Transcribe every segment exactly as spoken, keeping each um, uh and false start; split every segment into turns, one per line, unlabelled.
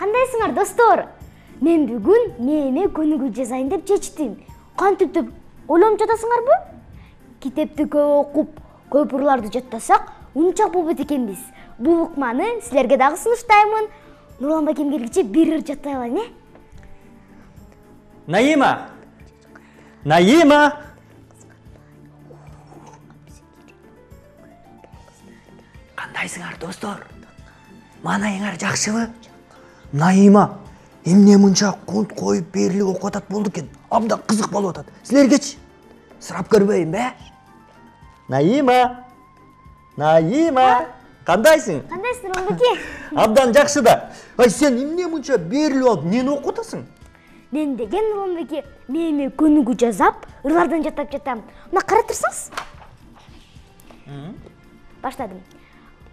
Кандайсыңар достор? Мен бүгүн мээме көнүгүү жазайын деп чечтим. Кантип деп ойлонуп жатасыңарбы? Китепти көп окуп, көп ырларды жаттасак, унчак болбойт экенбиз. Бул ыкманы силерге дагы сунуштаймын. Нурлан байкем келгиче бир ыр жаттай алайын, э?
Наима! Наима! Кандайсыңар достор? Манайыңар жакшыбы? Наима эмне мынча кунт коюп берилип окуп атат болду экен. Абдан кызык болуп атат. Силергечи сурап көрбөйүнбү? Наима! Наима! Кандайсың?
Кандайсың, Нурлан байке?
Абдан жакшы да. Ай, сен эмне мынча берилип алып, эмнени окуп атасың?
Мен деген, Нурлан байке, мээме көнүгүү жазап, ырлардан жаттап жатам. Мына карап турсаңыз. Баштадым.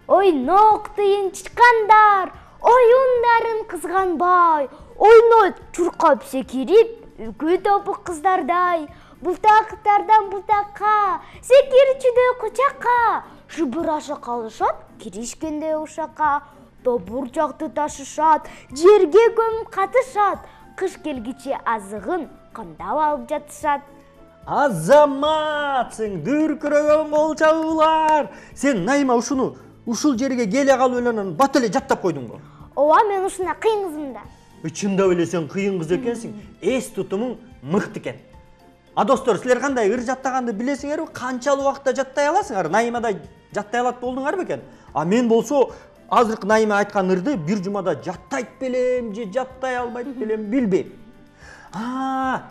Ойнок тыйынчыкандар, оюндарын кызганбай, ойнойт чуркап секирип, үкү топу кыздардай, бултактардан бултакка, секирчүдөй кучакка, шыбыраша калышат, киришкенде ушакка, тобурчакты ташышат, жерге көмүп катышат, кыш келгиче азыгын кандап алып жатышат.
Азаматсың, дүркүрөгөн кол чабуулар. Сен Наима ушуну ушул жерге келе калып эле бат эле жаттап койдуңбу?
Ооба, мен ушундай кыйын кызмын да.
Чындап эле сен кыйын кыз экенсиң. Эс тутумуң мыкты экен. А достор, силер кандай ыр жаттаганды билесиңерби? Канчалык убакытта жаттай аласыңар? Наимадай жаттай алат болдуңарбы экен? А мен болсо азыркы Наима айткан ырды бир жумада жаттайт белем же жаттай албайт белем билбейм. А,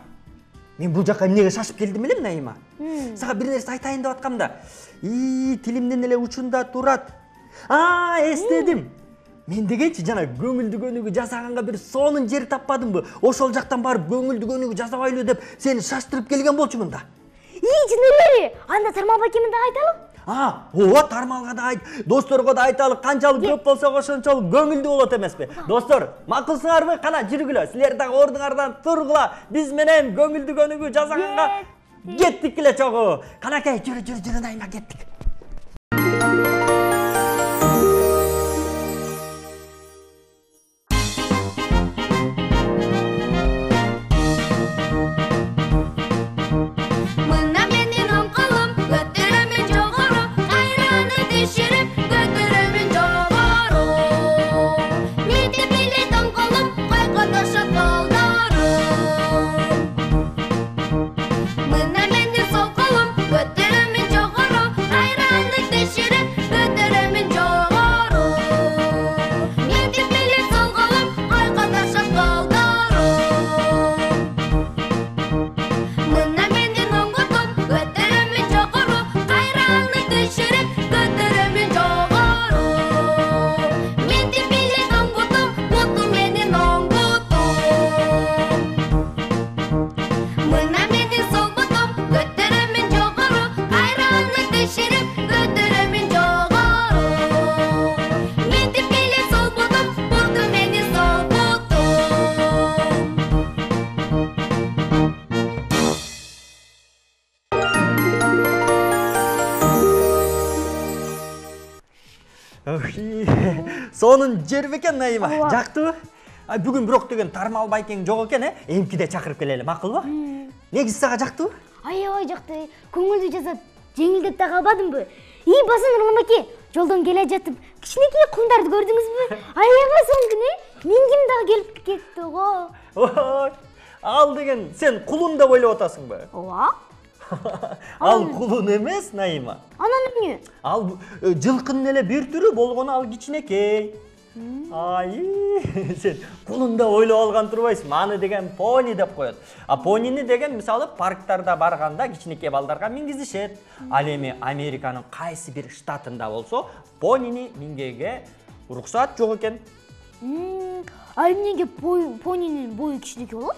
мен бул жакка эмнеге шашып келдим элем, Наима? Сага бир нерсе айтайын деп аткам да. И, тилимден эле учунда турат. А, эстедим. Мен дегенчи жана көңүлдү көнүгүү жасаганга бир сонун жер таппадымбы? Ошол жактан барып көңүлдү көнүгүү жасабайлы деп сени шаштырып келген болчумун да.
И, жын эле. Анда Тармал байкеме да айталы.
А, ооба, Тармалга да айт, досторго да айталы, канчалык көп болсо ошончолук көңүлдүү болот эмеспи? Достор, макулсуңарбы? Кана жүргүлө, силер дагы ордуңардан тургула. Биз менен көңүлдү көнүгүү жасаганга кеттик эле чогуу. Канакей, жүрү, жүрү, жүрү, Наима, кеттик. Сонун жер бекен, Наима. Жактыбы? Ай, бүгүн бирок деген Тармал байкең жок экен, э? Эмкиде чакырып келели, макулбу? Негизи сага жактыбы?
Аябай жакты. Көңүлдү жасап, жеңилдеп да калбадымбы? И, баса Нурлан байке, жолдон келе жатып, кичинекей кумдарды көрдүңүзбү? Аябай сонун, э? Мен ким дагы келип кетти го.
Ой, ал деген сен кулун деп ойлоп атасыңбы?
Ооба.
Ал кулун эмес, Наима.
Анан эмне?
Ал жылкынын эле бир түрү болгону, ал кичинекей. Ай, сен кулун деп ойлоп алган турбайсың. Аны деген пони деп коет. А понини деген мисалы парктарда барганда кичинекей балдарга мингизишет. Ал эми Американын кайсы бир штатында болсо, понини мингеге уруксат жок экен.
А эмнеге понинин бою кичинекей болот?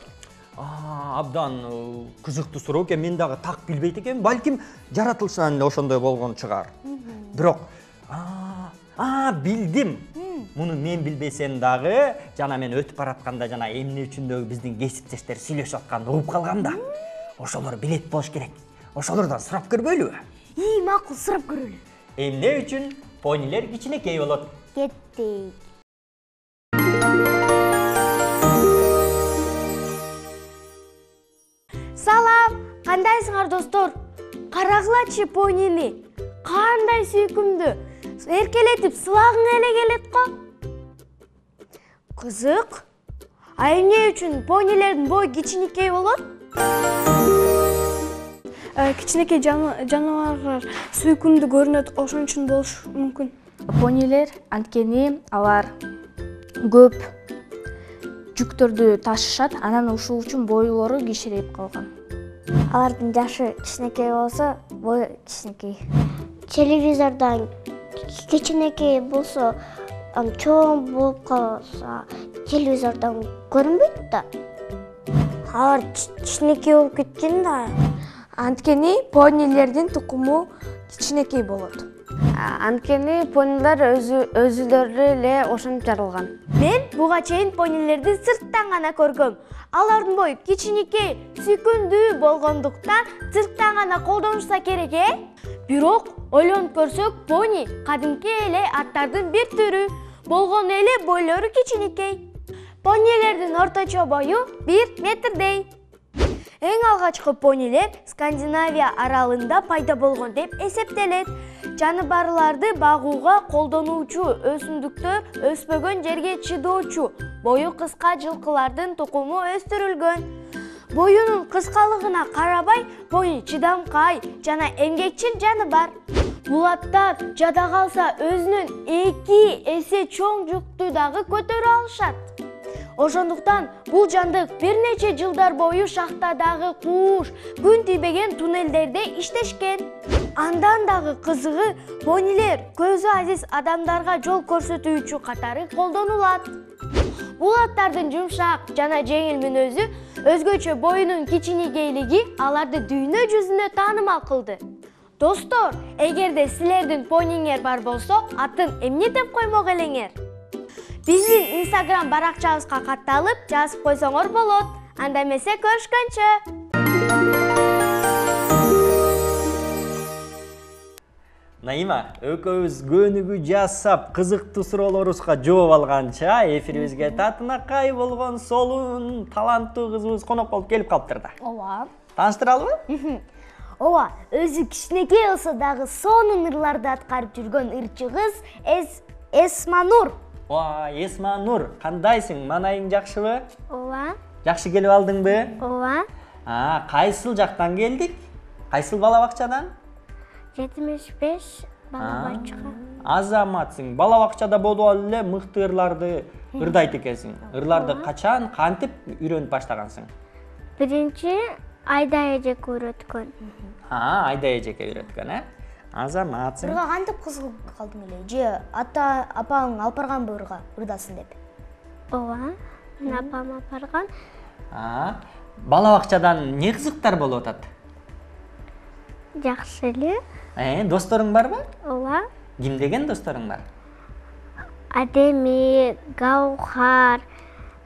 Абдан кызыктуу суроо экен. Мен дагы так билбейт экенмин. Балким жаратылышынан эле ошондой болгон чыгар. Бирок, а, билдим. Муну мен билбесем дагы, жана мен өтүп баратканда жана эмне үчүндөгү биздин кесиптештер сүйлөшүп атканды угуп калгам да. Ошолор билет болуш керек. Ошолордон сурап көрбөйлүбү?
И, макул, сурап көрөлү.
Эмне үчүн понилер кичинекей болот?
Кеттик. Кандайсыңар достор? Карагылачы понини. Кандай сүйкүмдүү. Эркелетип сылагың эле келет го. Кызык. А эмне үчүн понилердин бою кичинекей болот?
Кичинекей жаныбарлар сүйкүмдүү көрүнөт, ошон үчүн болушу мүмкүн.
Понилер анткени алар көп жүктөрдү ташышат, анан ушул үчүн бойлору кичирейип калган.
Алардын жашы кичинекей болсо, бою кичинекей. Телевизордон кичинекей болсо, чоң болуп калса, телевизордон көрүнбөйт да. Алар кичинекей болуп кеткен да.
Анткени понилердин тукуму кичинекей болот.
Анткени понилер өзүлөрү эле ошентип жаралган.
Мен буга чейин понилерди сырттан гана көргөм. Алардын бою кичинекей, сүйкүмдүү болгондуктан сырттан гана колдонушса керек, э? Бирок ойлонуп көрсөк, пони кадимки эле аттардын бир түрү, болгону эле бойлору кичинекей. Понилердин орточо бою бир метрдей. Эң алгачкы понилер Скандинавия аралында пайда болгон деп эсептелет. Жаныбарларды багууга колдонуучу өсүмдүктөр өспөгөн жерге чыдоочу, бою кыска жылкылардын тукуму өстүрүлгөн. Боюнун кыскалыгына карабай, пони чыдамкай жана эмгекчил жаныбар. Бул аттар жада калса өзүнүн эки эсе чоң жүктү дагы көтөрө алышат. Ошондуктан бул жандык бир нече жылдар бою шахтадагы кууш, күн тийбеген туннелдерде иштешкен. Андан дагы кызыгы, понилер көзү азиз адамдарга жол көрсөтүүчү катары колдонулат. Бул аттардын жумшак жана жеңил мүнөзү, өзгөчө боюнун кичинекейлиги аларды дүйнө жүзүнө таанымал кылды. Достор, эгерде силердин пониңер бар болсо, атын эмне деп коймок элеңер? Биздин Instagram баракчабызга катталып жазып койсоңор болот. Анда эмесе көрүшкөнчө.
Наима, экөөбүз көнүгүү жасап, кызыктуу суроолорубузга жооп алганча, эфирибизге татынакай болгон солун, таланттуу кызыбыз конок болуп келип калыптыр да.
Ооба.
Тааныштыралыбы?
Ооба, өзү кичинекей болсо дагы сонун ырларды аткарып жүргөн ырчы кыз Эсманур.
Ооба, Эсманур, кандайсың? Манайың жакшыбы?
Ооба.
Жакшы келип алдыңбы?
Ооба.
А, кайсыл жактан келдик? Кайсыл бала бакчадан?
жетимиш беш бала бакча.
Азаматсың. Бала бакчада болуп алып эле мыкты ырларды ырдайт экенсиң. Ырларды качан, кантип үйрөнүп баштагансың?
Биринчи Айда эжеке үйрөткөн.
А, Айда эжеке үйрөткөн, э? Азаматсың.
Ырга кантип кызыгып калдың эле? Же ата апаң алып барганбы ырга, ырдасын деп? Ооба, апам алып барган.
А, бала бакчадан эмне кызыктар болуп атат?
Жакшы эле.
Э, досторуң барбы?
Ооба.
Ким деген досторуң бар?
Адеми, Гаухар,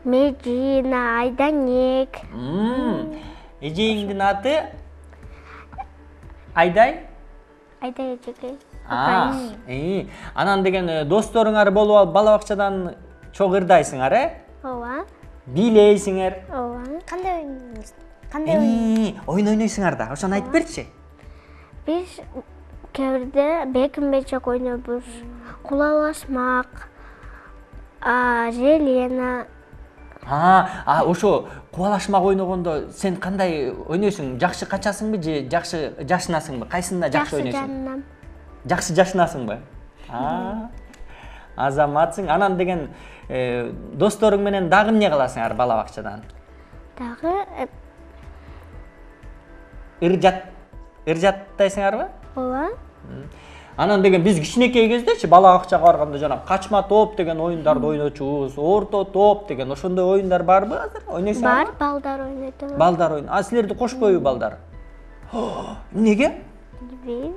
Медина, Айданек.
Эжеңдин аты Айдай?
Айда эжеке.
А, э, анан деген досторуңар болуп алып бала бакчадан чогуу ырдайсыңар, э?
Ооба.
Бийлейсиңер.
Ооба. Кандай ойнойсуңар? Кандай ойнойсуңар?
Ойун ойнойсуңар да, ошону айтып берчи.
Биз кээ бирде бекин-бечек ойнойбуз, кулалашмак, желена.
А, а ошо кубалашмак ойногондо сен кандай ойнойсуң? Жакшы качасыңбы же жакшы жашынасыңбы? Кайсында жакшы ойнойсуң?
Жакшы жашынам.
Жакшы жашынасыңбы? А, азаматсың. Анан деген досторуң менен дагы эмне кыласыңар бала бакчадан?
Дагы
ыр жат ыр жаттайсыңарбы?
Ооба.
Анан деген биз кичинекей кездечи бала бакчага барганда жана качма топ деген оюндарды ойночубуз, орто топ деген ошондой оюндар барбы азыр? Ойнойсуңарбы?
Бар, балдар ойнойт.
Балдар ойн. А силерди кошпойбу балдар? Эмнеге?
Билбейм.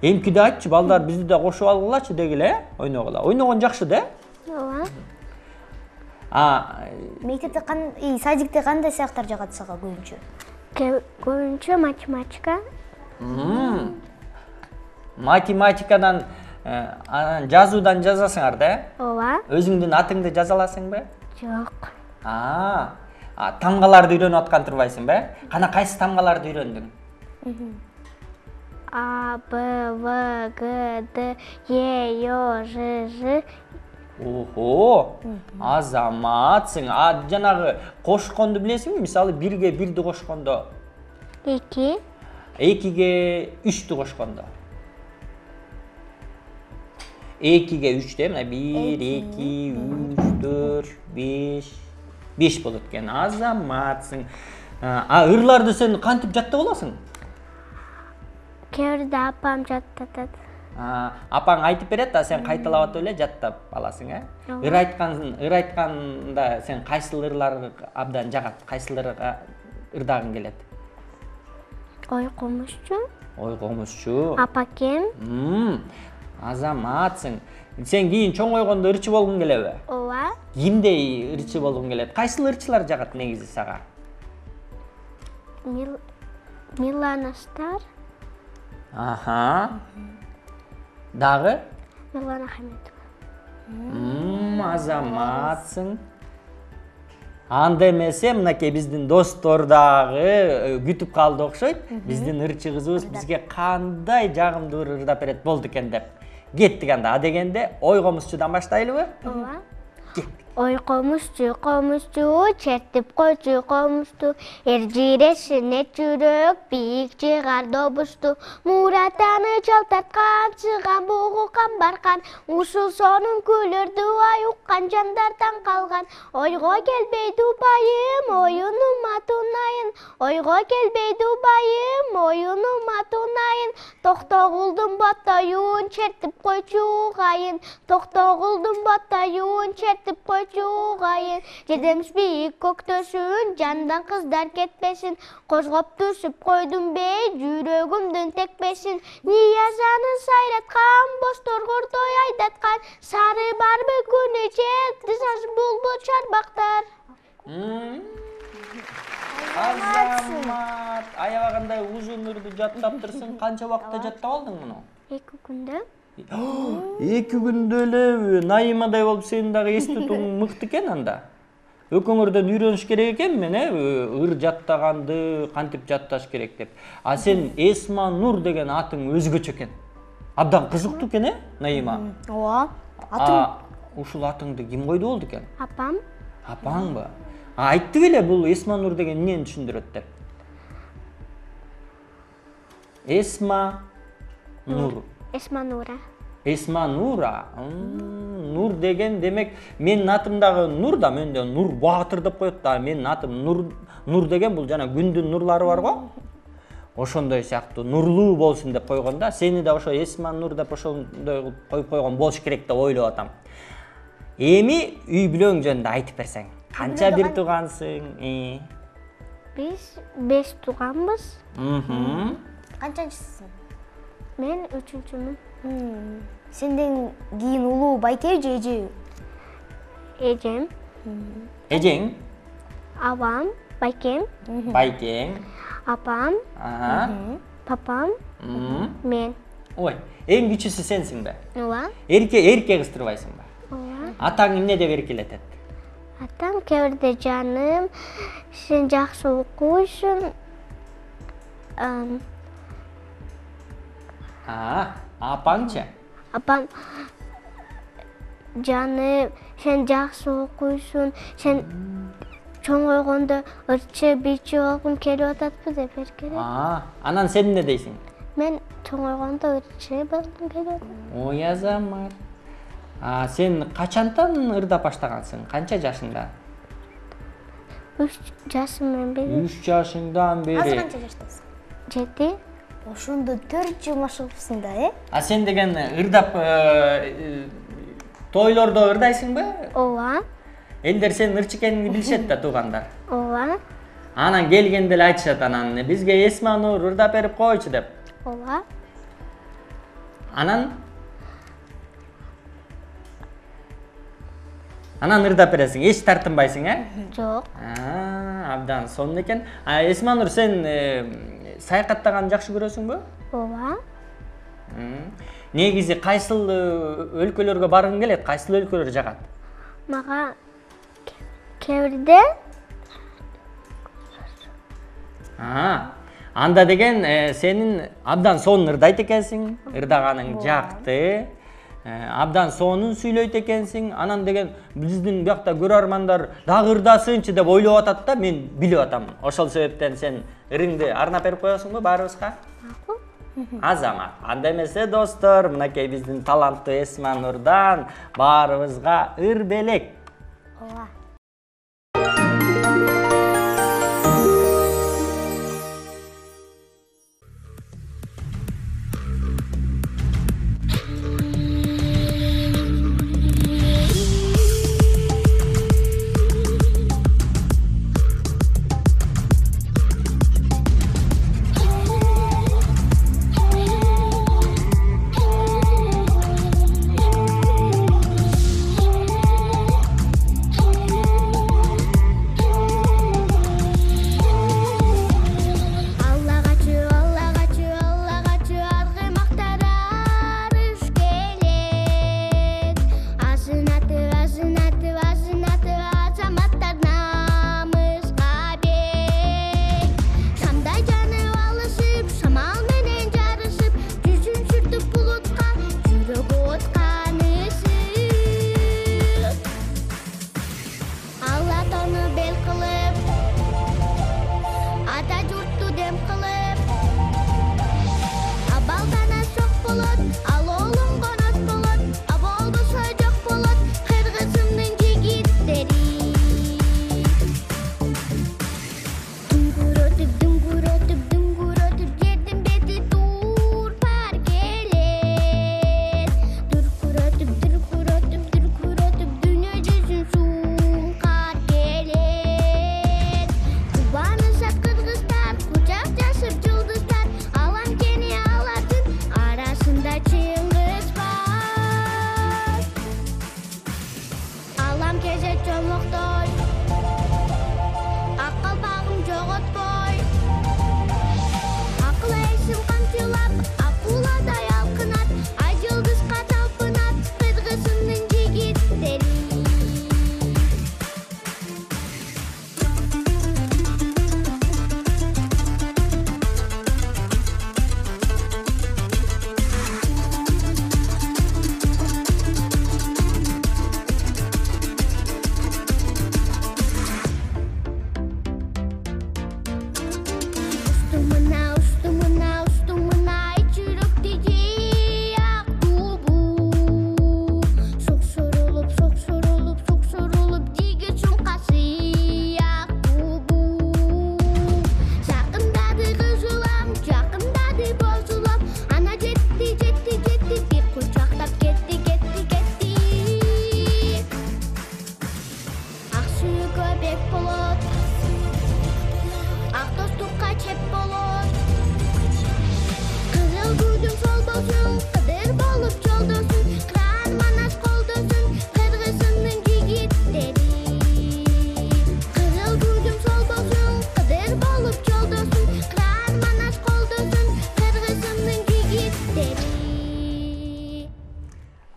Эмкиде айтчы, балдар бизди да кошуп алгылачы дегиле, э? Ойногула. Ойногон жакшы да?
Ооба.
А,
мектепте кандай, садикте кандай сыяктар жагат сага көбүнчө? Көбүнчө математика.
Математикадан, анан жазуудан жазасыңар да?
Ооба.
Өзүңдүн атыңды жаза аласыңбы?
Жок.
А, тамгаларды үйрөнүп аткан турбайсыңбы? Кана кайсы тамгаларды үйрөндүң?
А, Б, В, Г, Д, Е, Ё, Ж, Ж.
Ого, азаматсың. А жанагы кошконду билесиңби? Мисалы бирге бирди кошкондо,
Эки.
экиге үчтү кошкондо. Экиге үчтү, мына бир, эки, үч, төрт, беш. беш болот экен. Азаматсың. А ырларды сен кантип жаттап аласың?
Кээ бирде апам жаттатат.
Апаң айтып берет, а сен кайталап атып эле жаттап аласың, э? Ыр айткан, ыр айтканда сен кайсыл ырлар абдан жагат, кайсыларга ырдагың келет?
Ой комузчу.
Ой комузчу.
Апакем.
Азаматсың. Сен кийин чоңойгондо ырчы болгуң келеби?
Ооба.
Кимдей ырчы болгуң келет? Кайсыл ырчылар жагат негизи сага?
Милана Стар.
Аха. Дагы?
Милана Хаметова.
Азаматсың. Анда эмесе мынакей биздин достор дагы күтүп калды окшойт. Биздин ырчы кызыбыз бизге кандай жагымдуу ырдап берет болду экен деп. Кеттик анда. А дегенде ой комузчудан баштайлыбы?
Ооба.
Кеттик.
Ой комузчу, комузчу, чертип койчу комузду, эржирешине жүрөк, бийик чыгар добушту, Муратаны жалтарткан, чыган бугу камбаркан, ушул сонун күлөрдү ай уккан жандардан калган. Ойго келбейди байым, оюнума тунайын, ойго келбейди байым, оюнума тунайын, токтогулдун боттоюн чертип койчу кайын, токтогулдун боттоюн чертип койчу кайын, жедемиш бийик көктөшүн, жандан кыздар кетпесин, козгоп түшүп койдум бей, жүрөгүмдүн текпесин, Ниязаны сайраткан, бозторгордой айдаткан, сары барбы күнү жет, дызаш булбул чарбактар.
Азамат, аябагандай узун ырды жаттаптырсың. Канча убакытта жаттап алдың муну?
Эки күндө.
Эки күндө эле Наимадай болуп сенин дагы эс тутуң мыкты экен анда. Экөөңөрдөн үйрөнүш керек экен мен, э, ыр жаттаганды кантип жатташ керек деп. А сен Эсма Нур деген атың өзгөчө экен. Абдан кызыктуу экен, э, Наима?
Ооба.
Атың ушул атыңды ким койду болду экен?
Апам.
Апаңбы? А айтты беле бул Эсма Нур деген эмнени түшүндүрөт деп? Эсма Нур.
Эсма Нура.
Эсма Нура. Нур деген демек менин атым дагы Нур да, менде Нур Баатыр деп коет да. Менин атым Нур. Нур деген бул жана күндүн нурлары бар го. Ошондой сыяктуу нурлуу болсун деп койгон да. Сени да ошо Эсма Нур деп ошондой кылып коюп койгон болуш керек деп ойлоп атам. Эми үй бүлөң жөнүндө айтып берсең. Канча бир туугансың?
Биз беш тууганбыз.
Канчанчысың?
Мен үчүнчүмүн.
Сенден кийин улуу байке же эже?
Эжем,
Эжең?
абам, байкем,
Байкең?
апам, папам, мен.
Ой, эң кичүүсү сенсиң бе?
Ооба.
Эрке эрке кыстырбайсың ба?
Ооба.
Атаң эмне деп эркелетет?
Атам кээ бирде жаным, сен жакшы окуйсуң.
А, апаңчы?
Апам жаным, сен жакшы окуйсуң, сен чоңойгондо ырчы бийчи болгуң келип ататпы деп эркелет.
А, анан сен эмне дейсиң?
Мен чоңойгондо ырчы болгум келип атат.
Ой азамат. А сен качантан ырдап баштагансың? Канча жашыңда?
Үч жашымдан бери.
Үч жашыңдан бери.
Азыр канча жаштасың?
Жети.
Ошондо төрт жыл машыгыпсың да, э?
А сен деген ырдап тойлордо ырдайсыңбы?
Ооба.
Элдер сенин ырчы экениңди билишет да, туугандар.
Ооба.
Анан келгенде эле айтышат анан бизге Эсма Нур ырдап берип койчу деп.
Ооба.
Анан Анан ырдап бересиң, эч тартынбайсың, э?
Жок.
А, абдан сонун экен. А Эсма Нур, сен саякаттаганды жакшы көрөсүңбү?
Ооба.
Негизи кайсыл өлкөлөргө баргың келет? Кайсыл өлкөлөр жагат?
Мага кээ бирде.
А, Анда деген сенин абдан сонун ырдайт экенсиң, ырдаганың жакты. Абдан сонун сүйлөйт экенсиң. Анан деген биздин биякта көрөрмандар дагы ырдасынчы деп ойлоп атат да, мен билип атам. Ошол себептен сен ырыңды арнап берип коесуңбу баарыбызга? Азамат. Анда эмесе достор, мынакей биздин таланттуу Эсма Нурдан баарыбызга ыр белек.
Ооба.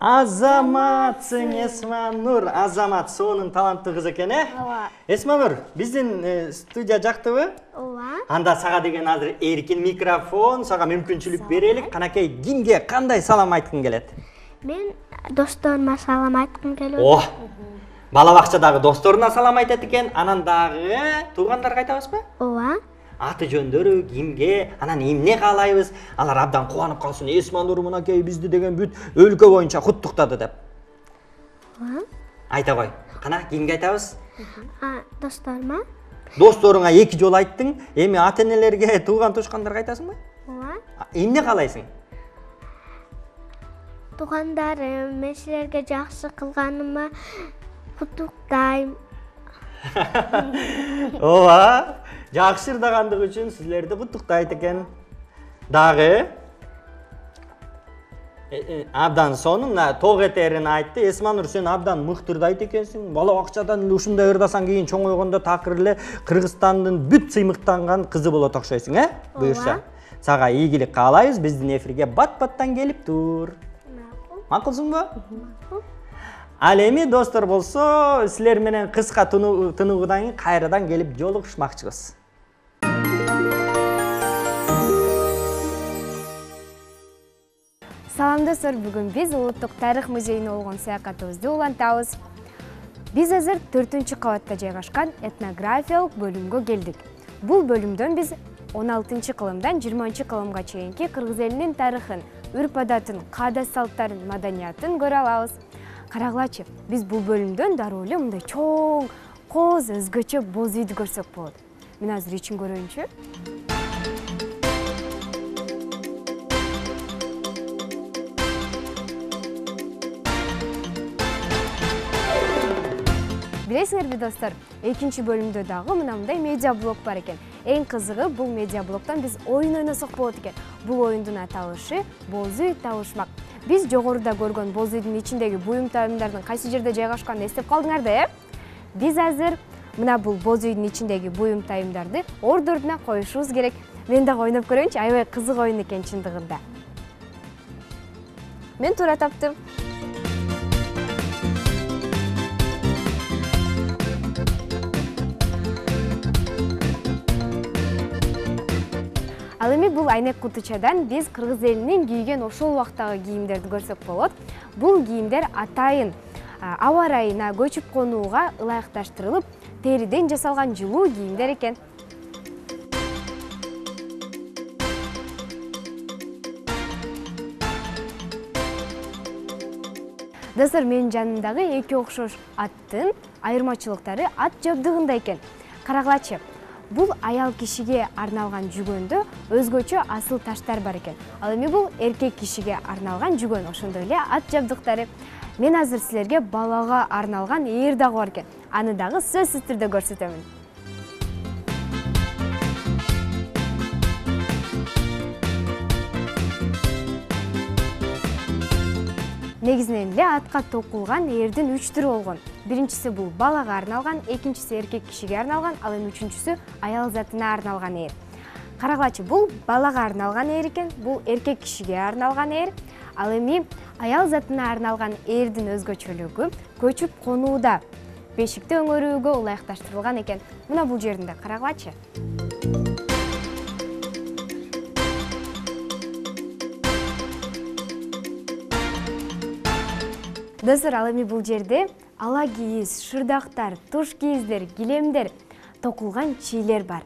Азаматсың Эсма Нур. Азамат сонун таланттуу кыз экен, э?
Ооба.
Эсма Нур, биздин студия жактыбы?
Ооба.
Анда сага деген азыр эркин микрофон, сага мүмкүнчүлүк берелик. Канакей, кимге кандай салам айткың келет?
Мен досторума салам айткым келет.
О, бала бакчадагы досторуна салам айтат экен. Анан дагы туугандарга айтабызбы?
Ооба.
Аты жөндөрү кимге, анан эмне каалайбыз? Алар абдан кубанып калсын. Эсма Нур мынакей бизди деген бүт өлкө боюнча куттуктады деп.
Ооба.
Айта кой. Кана кимге айтабыз?
А, досторума?
Досторуңа эки жолу айттың. Эми ата-энелерге, тууган тушкандарга айтасыңбы?
Ооба.
Эмне каалайсың?
Туугандарым, мен силерге жакшы кылганыма куттуктайм.
Ооба. Жакшы ырдагандыгы үчүн силерди куттуктайт экен. Дагы абдан сонун ток этерин айтты. Эсма Нур, сен абдан мыкты ырдайт экенсиң. Бала бакчадан ушундай ырдасаң кийин чоңойгондо такыр эле Кыргызстандын бүт сыймыктанган кызы болот окшойсуң, э? Буюрса. Сага ийгилик каалайбыз. Биздин эфирге бат-баттан келип тур. Макулсуңбу? Ал эми достор болсо, силер менен кыска тынуудан кийин кайрадан келип жолугушмакчыбыз.
Салам достор, бүгүн биз Улуттук тарых музейине болгон саякатыбызды улантабыз. Биз азыр төртүнчү кабатта жайгашкан этнографиялык бөлүмгө келдик. Бул бөлүмдөн биз он алтынчы кылымдан жыйырманчы кылымга чейинки кыргыз элинин тарыхын, үрп-адатын, каада-салттарын, маданиятын көрө алабыз. Карагылачы, биз бул бөлүмдөн дароо эле мындай чоң, коз, өзгөчө боз үйдү көрсөк болот. Мен азыр ичин көрөйүнчү. Билесиңерби достор, экинчи бөлүмдө дагы мындай медиа блок бар экен. Эң кызыгы, бул медиа блоктон биз оюн ойносок болот экен. Бул оюндун аталышы боз үй табышмак. Биз жогоруда көргөн боз үйдүн ичиндеги буюм тайымдардын кайсы жерде жайгашканын эстеп калдыңар да, э? Биз азыр мына бул боз үйдүн ичиндеги буюм тайымдарды орду ордуна коюшубуз керек. Мен дагы ойноп көрөйүнчү, аябай кызык оюн экен чындыгында. Мен туура таптым. Ал эми бул айнек кутучадан биз кыргыз элинин кийген ошол убактагы кийимдерди көрсөк болот. Бул кийимдер атайын аба ырайына, көчүп конууга ылайыкташтырылып, териден жасалган жылуу кийимдер экен. Достор, менин жанымдагы эки окшош аттын айырмачылыктары ат жабдыгында экен. Карагылачы. Бул аял кишиге арналган жүгөндө өзгөчө асыл таштар бар экен. Ал эми бул эркек кишиге арналган жүгөн, ошондой эле ат жабдыктары. Мен азыр силерге балага арналган ээр дагы бар экен. Аны дагы сөзсүз түрдө көрсөтөмүн. Негизинен эле атка токулган ээрдин үч түрү болгон. Биринчиси бул балага арналган, экинчиси эркек кишиге арналган, ал эми үчүнчүсү аял затына арналган ээр. Карагылачы, бул балага арналган ээр экен, бул эркек кишиге арналган ээр. Ал эми аял затына арналган ээрдин өзгөчөлүгү көчүп конууда, бешикти өңөрүүгө ылайыкташтырылган экен. Мына бул жеринде карагылачы. Достор, ал эми бул жерде ала кийиз, шырдактар, туш кийиздер, килемдер, токулган чийлер бар.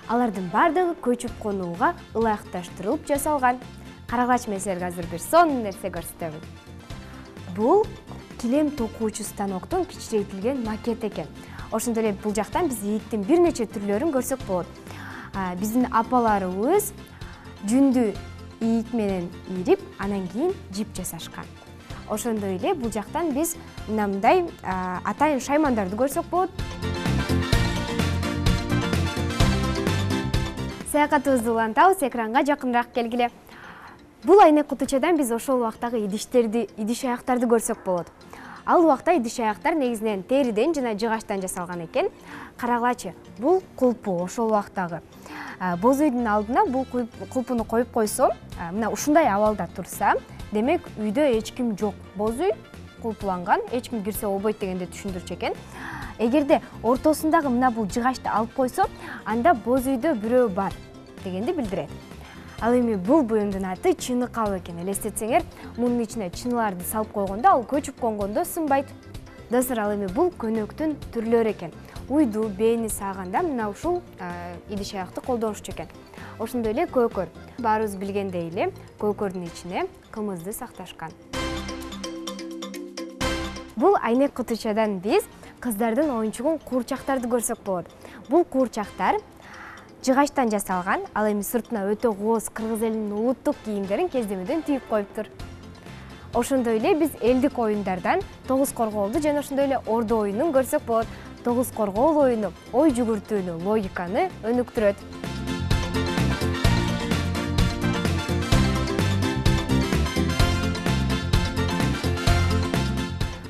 Алардын бардыгы көчүп конууга ылайыкташтырылып жасалган. Карагылачы, мен силерге азыр бир сонун нерсе көрсөтөмүн. Бул килем токуучу станоктун кичирейтилген макет экен. Ошондой эле бул жактан биз ийиктин бир нече түрлөрүн көрсөк болот. Биздин апаларыбыз жүндү ийик менен ийрип, анан кийин жип жасашкан. Ошондой эле бул жактан биз мындай атайын шаймандарды көрсөк болот. Саякатыбызды улантабыз, экранга жакыныраак келгиле. Бул айнек кутучадан биз ошол убактагы идиштерди, идиш аяктарды көрсөк болот. Ал убакта идиш аяктар негизинен териден жана жыгачтан жасалган экен. Карагылачы, бул кулпу ошол убактагы. Боз үйдүн алдына бул кулпуну коюп койсо, мына ушундай абалда турса, демек үйдө эч ким жок. Боз үй кулпуланган, эч ким кирсе болбойт дегенди түшүндүрчү экен. Эгерде ортосундагы мына бул жыгачты алып койсо, анда боз үйдө бирөө бар дегенди билдирет. Ал эми бул буюмдун аты чыны кабы экен. Элестетсеңер, мунун ичине чыналарды салып койгондо, ал көчүп конгондо сынбайт. Достор, ал эми бул көнөктүн түрлөрү экен. Уйду, бээни сааганда мына ушул идиш аякты колдонушчу экен. Ошондой эле көкөр. Баарыбыз билгендей эле, көкөрдүн ичине кымызды сакташкан. Бул айнек кутучадан биз кыздардын оюнчугун куурчактарды көрсөк болот. Бул куурчактар жыгачтан жасалган, ал эми сыртына өтө кооз кыргыз элинин улуттук кийимдерин кездемеден түйүп коюптур. Ошондой эле биз элдик оюндардан тогуз коргоолду жана ошондой эле ордо оюнун көрсөк болот. Тогуз коргоол оюну ой жүгүртүүнү, логиканы өнүктүрөт.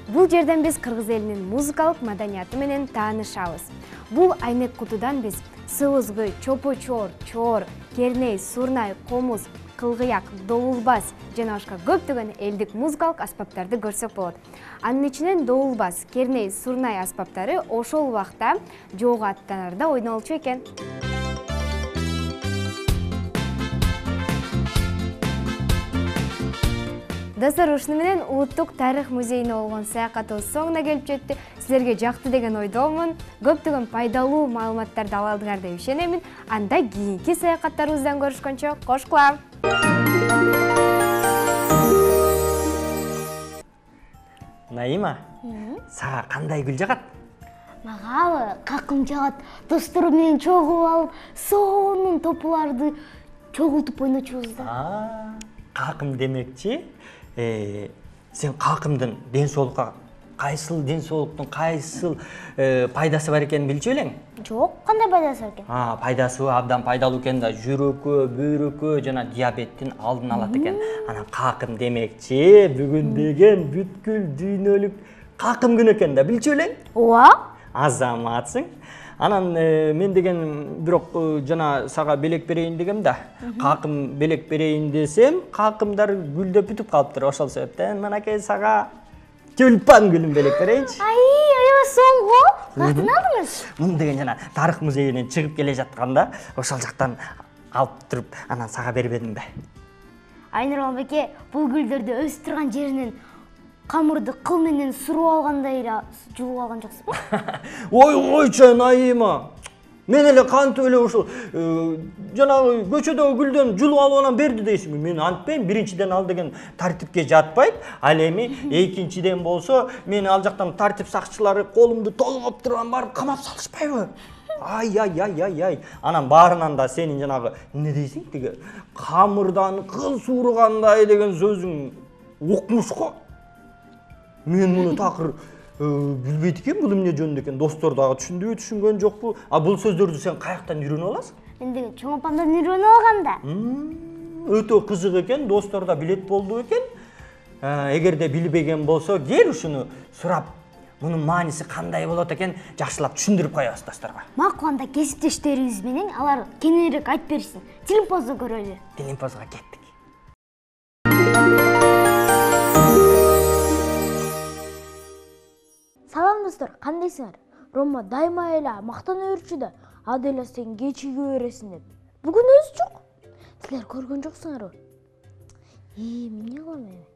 Бул жерден биз кыргыз элинин музыкалык маданияты менен таанышабыз. Бул айнек кутудан биз сыбызгы, чопочор, чоор, керней, сурнай, комуз, кылгыяк, довулбас жана башка көптөгөн элдик музыкалык аспаптарды көрсөк болот. Анын ичинен довулбас, керней, сурнай аспаптары ошол убакта жоого аттанарда ойнолчу экен. Достор, ушуну менен улуттук тарых музейине болгон саякатыбыз соңуна келип жетти. Силерге жакты деген ойдомун. Көптөгөн пайдалуу маалыматтарды ала алдыңар деп ишенемин. Анда кийинки саякаттарыбыздан көрүшкөнчө кош кылам.
Наима, сага кандай гүл жагат?
Мага какым жагат. Досторум менен чогулуп алып, сонун топуларды чогултуп ойночубуз да.
Какым демекчи, сен какымдын ден соолукка кайсыл ден соолуктун кайсыл пайдасы бар экенин билчү белең?
Жок, кандай пайдасы бар экен?
А, пайдасы абдан пайдалуу экен да, жүрөккө, бөйрөккө жана диабеттин алдын алат экен. Анан какым демекчи, бүгүн деген бүткүл дүйнөлүк какым күнү экен да, билчү белең?
Ооба.
Азаматсың. Анан мен деген бирок жана сага белек берейин дегем да. Какым белек берейин десем, какымдар гүлдөп бүтүп калыптыр. Ошол себептен мынакей сага тюльпан гүлүн белек берейинчи.
Ай, аябай соңго. Каяктан алдыңыз?
Муну деген жана тарых музейинен чыгып келе жатканда, ошол жактан алып туруп, анан сага бербедим бе.
Айнур беке, бул гүлдөрдү өсүп турган жеринен камырды кыл менен суруп алгандай эле жулуп алган жоксузбу?
Ой, ойчу Наима. Мен эле кантип эле ушул жанагы көчөдөгү гүлдөн жулуп алып анан берди дейсиңби? Мен антпейм, биринчиден ал деген тартипке жатпайт. Ал эми экинчиден болсо, мени ал жактан тартип сакчылары колумду толгоп турган барып камап салышпайбы? Ай, ай, ай, ай, ай. Анан баарынан да сенин жанагы эмне дейсиң? Тиги камырдан кыл suurugандай деген сөзүң укмуш го. Мен муну такыр билбейт экен, бул эмне жөнүндө экен. Достор дагы түшүндүбү, түшүнгөн жокпу? А бул сөздөрдү сен каяктан үйрөнүп аласың?
Мен деген чоң апамдан үйрөнүп алгам да.
Өтө кызык экен, достор да билет болду экен. Эгерде билбеген болсо, кел ушуну сурап, мунун мааниси кандай болот экен, жакшылап түшүндүрүп коебуз досторго.
Макул, анда кесиптештерибиз менен алар кененирээк айтып беришсин. Телепозду көрөлү.
Телепозго кеттик.
Салам достор, кандайсыңар? Рома дайыма эле мактана берчү да, Аделя сен кечиге бересиң деп. Бүгүн өзү жок. Силер көргөн жоксуңарбы? Ии, эмне кылам эми?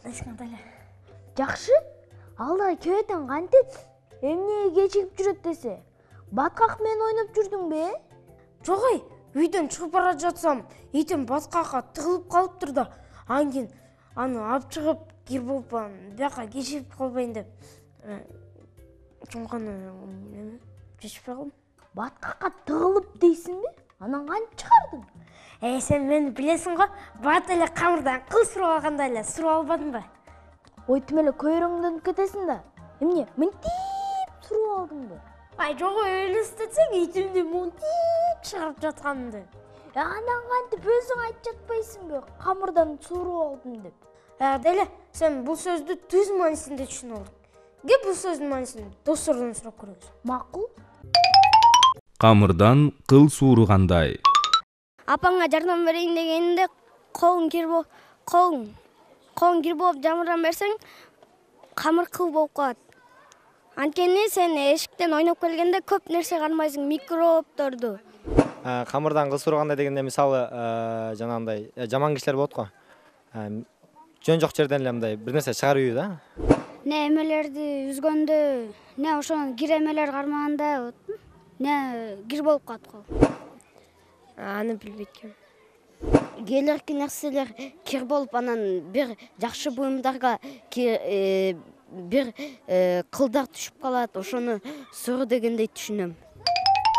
Кандайсың Аделя? Жакшы. Ал да кебетен кантет? Эмне кечигип жүрөт десе? Баткак менен ойноп жүрдүңбү?
Жок ой, үйдөн чыгып бара жатсам, итим баткакка тыгылып калыптыр да. Анкин аны алып чыгып кир болуп бияка кечигип калбайын деп чоңканы чечпей калдым.
Баткакка тыгылып дейсиңби? Анан кантип чыгардың?
Э, сен мени билесиң го, бат эле камырдан кыл суруп алганда эле суруп албадымбы?
Ойтум эле көйрөңдөнүп кетесиң да. Эмне, мынтип суруп алдыңбы?
Ай, жок ой, элестетсең итимди мынтип чыгарып жатканымды.
Анан кантип өзүң айтып жатпайсыңбы? Камырдан суруп алдым деп.
Деле, сен бул сөздү түз маанисинде түшүнүп алдың. Кеп бул сөздүн маанисин достордон сурап көрөбүз.
Макул.
Камырдан кыл suurugандай.
Апаңа жардам берейин дегенде колуң кир болуп, колуң колуң кир болуп жамырдан берсең, камыр кыл болуп калат. Анткени сен эшиктен ойноп келгенде көп нерсе кармайсың, микробторду.
Камырдан кыл suurugандай дегенде мисалы жанагындай жаман кишилер болот го. Жөн жок жерден эле мындай бир нерсе чыгарып үйү да.
Не эмелерди үзгөндө, не ошон кир эмелер кармаганда, не кир болуп калат кол.
Аны билбейт экенмин.
Келерки нерселер кир болуп, анан бир жакшы буюмдарга бир кылдар түшүп калат, ошону суру дегендей түшүнөм.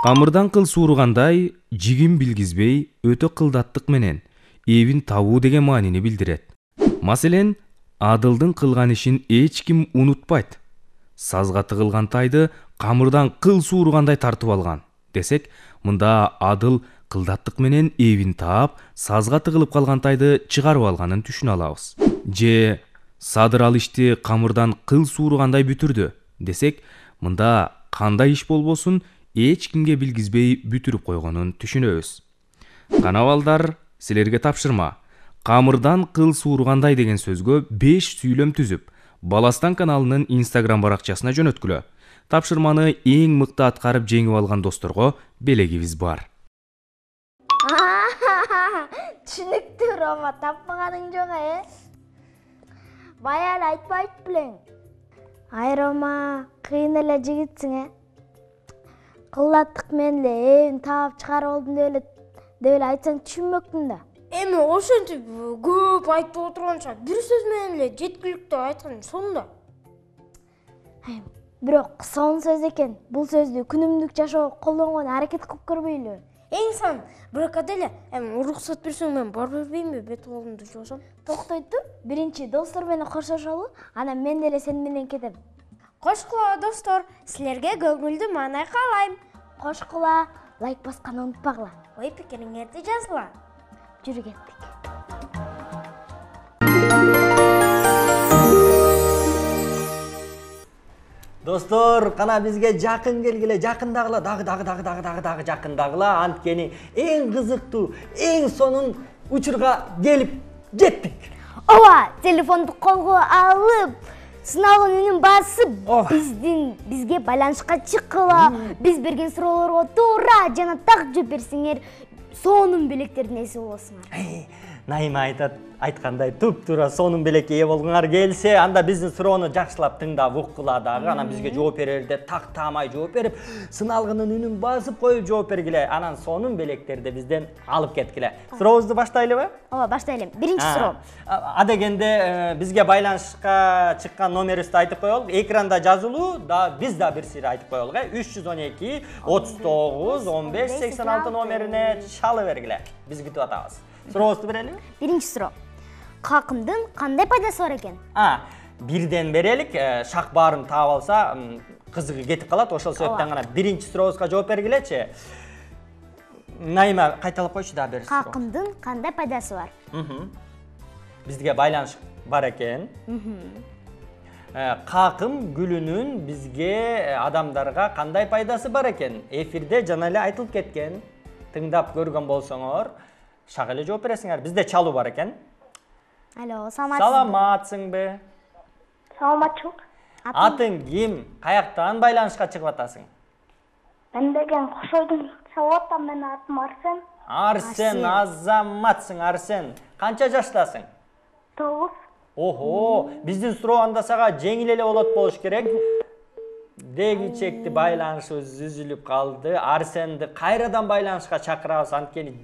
Камырдан кыл suurugандай жигин билгизбей өтө кылдаттык менен эбин табуу деген маанини билдирет. Маселен, Адылдын кылган ишин эч ким унутпайт. Сазга тыгылган тайды камырдан кыл suurugандай тартып алган десек, мында Адыл кылдаттык менен эбин таап, сазга тыгылып калган тайды чыгарып алганын түшүнө алабыз. Же Садыр ал ишти камырдан кыл suurugандай бүтүрдү десек, мында кандай иш болбосун эч кимге билгизбей бүтүрүп койгонун түшүнөбүз. Кана балдар, силерге тапшырма. Камырдан кыл suurugандай деген сөзгө беш сүйлөм түзүп, Баластан каналынын Instagram баракчасына жөнөткүлө. Тапшырманы эң мыкты аткарып жеңип алган досторго белегибиз бар.
Түшүнүктүү, Рома, тапмаганың жок, э? Бая эле айтпайт белең. Ай, Рома, кыйын эле жигитсиң, э? Кылдаттык менен эле эвин таап чыгарып алдым деп эле деп эле айтсаң түшүнмөктүм да.
Эми ошентип көп айтып отурганча бир сөз менен эле жеткиликтүү айткан сонда.
Бирок сонун сөз экен. Бул сөздү күнүмдүк жашоого колдонгонго аракет кылып көрбөйлүбү?
Эң сан биракат эле. Эми уруксат берсең мен бар бербеймби? Бет колумду жуусам.
Токтой тур, биринчи достор менен коштошолу, анан мен деле сен менен кетем.
Кошкула, достор, силерге көңүлдүү маанай каалайм.
Кошкула, лайк басканды унутпагыла.
Ой пикириңерди жазгыла.
Жүрү кеттик.
Достор, кана бизге жакын келгиле, жакындагыла, дагы дагы дагы дагы дагы дагы жакындагыла. Анткени эң кызыктуу, эң сонун учурга келип жеттик.
Ооба, телефонду колго алып, сыналган үнүн басып, биздин бизге байланышка чыккыла. Биз берген суроолорго туура жана так жооп берсеңер, сонун белектердин ээси болосуңар.
Найма айтат, айткандай туп-туура сонун белекке ээ болгоңар келсе, анда биздин суроону жакшылап тыңдап уккула дагы, анан бизге жооп берерде так таамай жооп берип, сыналгынын үнүн басып коюп жооп бергиле, анан сонун белектерди бизден алып кеткиле. Сурообузду баштайлыбы?
Ооба, баштайлы. Биринчи суроо.
Адегенде бизге байланышка чыккан номерибизди айтып коелук. Экранда жазылуу, да биз да бир сыйра айтып коелук, э? үч жүз он эки отуз тогуз он беш сексен алты номерине чалып бергиле. Биз күтүп атабыз. Сурообузду берелиби?
Биринчи суроо. Какымдын кандай пайдасы бар экен?
А, бирден берелик. Шак баарын таап алса, кызыгы кетип калат. Ошол себептен гана биринчи сурообузга жооп бергилечи. Найма, кайталап койчу да бир суроо.
Какымдын кандай пайдасы бар?
Бизге байланыш бар экен. Какым гүлүнүн бизге адамдарга кандай пайдасы бар экен? Эфирде жана эле айтылып кеткен. Тыңдап көргөн болсоңор, шак эле жооп бересиңер. Бизде чалуу бар экен.
Алло, саламатсызбы?
Саламатсыңбы?
Саламатчылык.
Атың ким? Каяктан байланышка чыгып атасың?
Мен деген Кошойдун чалып атам, мен атым Арсен.
Арсен, азаматсың Арсен. Канча жаштасың?
Тогуз.
Охо, биздин суроо анда сага жеңил эле болот болуш керек. Деги чекти байланышыбыз үзүлүп калды. Арсенди кайрадан байланышка чакырабыз, анткени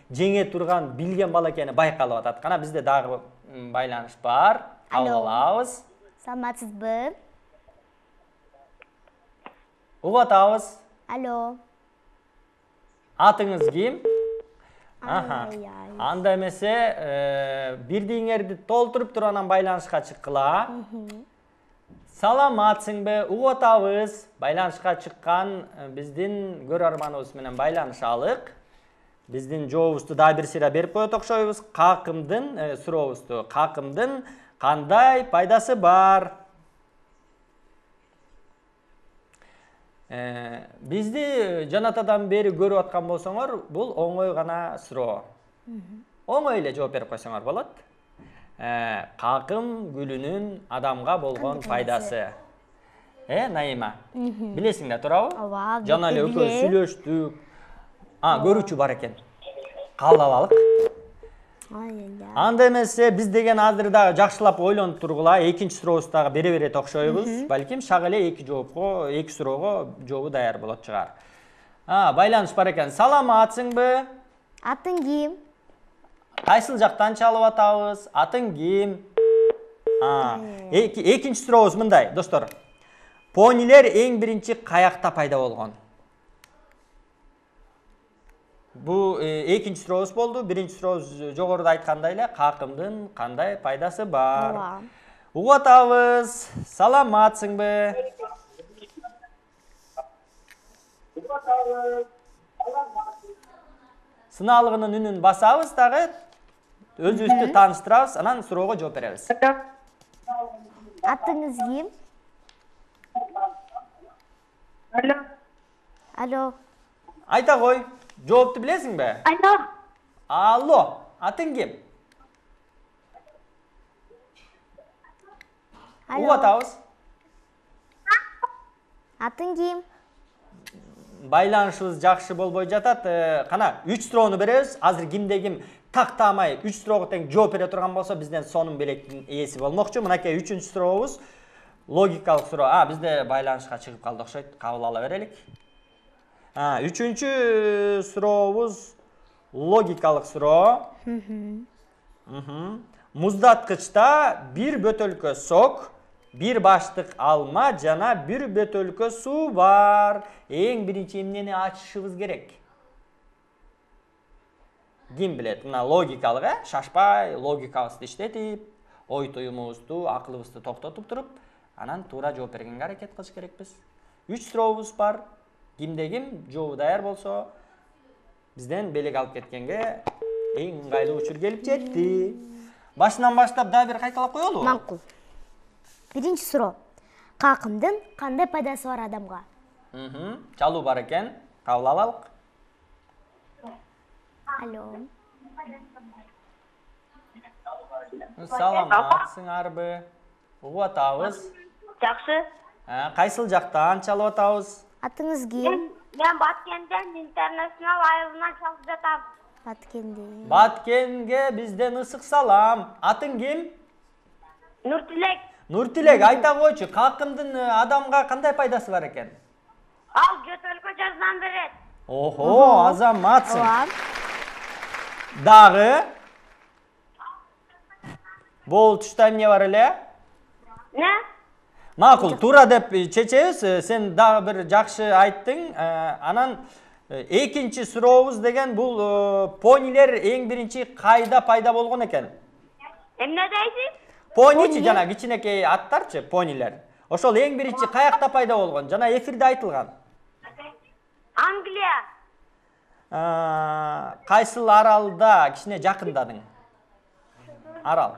жеңе турган билген бала экени байкалып атат. Кана бизде дагы байланыш бар. Кабыл алабыз.
Саламатсызбы?
Угуп атабыз.
Алло.
Атыңыз ким? Аха. Анда эмесе, бирдиңерди толтуруп туруп анан байланышка чыккыла. Саламатсыңбы? Угуп атабыз. Байланышка чыккан биздин көрөрманыбыз менен байланышалык. Биздин жообузду да бир сыйра берип коет окшойбуз. Какымдын сурообузду, какымдын кандай пайдасы бар? Бизди жанатадан бери көрүп аткан болсоңор, бул оңой гана суроо. Оңой эле жооп берип койсоңор болот. Какым гүлүнүн адамга болгон пайдасы. Э, Наима? Билесиң да туурабы?
Ооба,
жана эле экөөбүз сүйлөштүк. А, көрүүчү бар экен. Кабыл алалык. Анда эмесе биз деген азыр дагы жакшылап ойлонуп тургула. Экинчи сурообузду дагы бере берет окшойбуз. Балким шак эле эки жоопко, эки суроого жообу даяр болот чыгар. А, байланыш бар экен. Саламатсыңбы?
Атың ким?
Кайсыл жактан чалып атабыз? Атың ким? А, экинчи сурообуз мындай, достор. Понилер эң биринчи каякта пайда болгон? Бу экинчи сурообуз болду. Биринчи сурообуз жогоруда айткандай эле, какымдын кандай пайдасы бар? Угуп атабыз. Саламатсыңбы? Сыналгынын үнүн басабыз дагы, өзүбүздү тааныштырабыз, анан суроого жооп беребиз.
Атыңыз ким?
Алло.
Алло.
Айта кой, жоопту билесиңби?
Алло.
Алло, атың ким? Угуп атабыз.
Атың ким?
Байланышыбыз жакшы болбой жатат. Кана, үч суроону беребиз. Азыр кимде ким тактамай үч суроого тең жооп бере турган болсо бизден сонун белектин ээси болмокчу. Мынакей үчүнчү сурообуз логикалык суроо. А, бизде байланышка чыгып калды окшойт. Кабыл ала берелик. А, үчүнчү сурообуз логикалык суроо. Муздаткычта бир бөтөлкө сок, бир баштык алма жана бир бөтөлкө суу бар. Эң биринчи эмнени ачышыбыз керек? Ким билет? Мына логикалык, э? Шашпай, логикабызды иштетип, ой туюмубузду, акылыбызды токтотуп туруп, анан туура жооп бергенге аракет кылыш керекпиз. Үч сурообуз бар. Кимде ким жообу даяр болсо, бизден белек алып кеткенге эң ыңгайлуу учур келип жетти. Башынан баштап дагы бир кайталап коелу.
Макул. Биринчи суроо. Какымдын кандай пайдасы бар адамга?
Мхм. Чалуу бар экен. Кабыл алалык.
Алло.
Саламатсыңарбы? Угуп атабыз.
Жакшы.
Кайсыл жактан чалып атабыз?
Атыңыз ким?
Мен Баткенден интернационал айылынан чалып жатам.
Баткенден.
Баткенге бизден ысык салам. Атың ким?
Нуртилек.
Нуртилек, айта койчу, какымдын адамга кандай пайдасы бар экен?
Ал жөтөлкө жаздан берет.
Охо, азаматсың. Дагы? Бул тушта эмне бар эле?
Не?
Макул, туура деп чечебиз. Сен дагы бир жакшы айттың. Анан экинчи сурообуз деген бул понилер эң биринчи кайда пайда болгон экен?
Эмне дейсиз?
Поничи жана кичинекей аттарчы, понилер. Ошол эң биринчи каякта пайда болгон? Жана эфирде айтылган.
Англия.
Кайсыл аралда кичине жакындадың? Арал.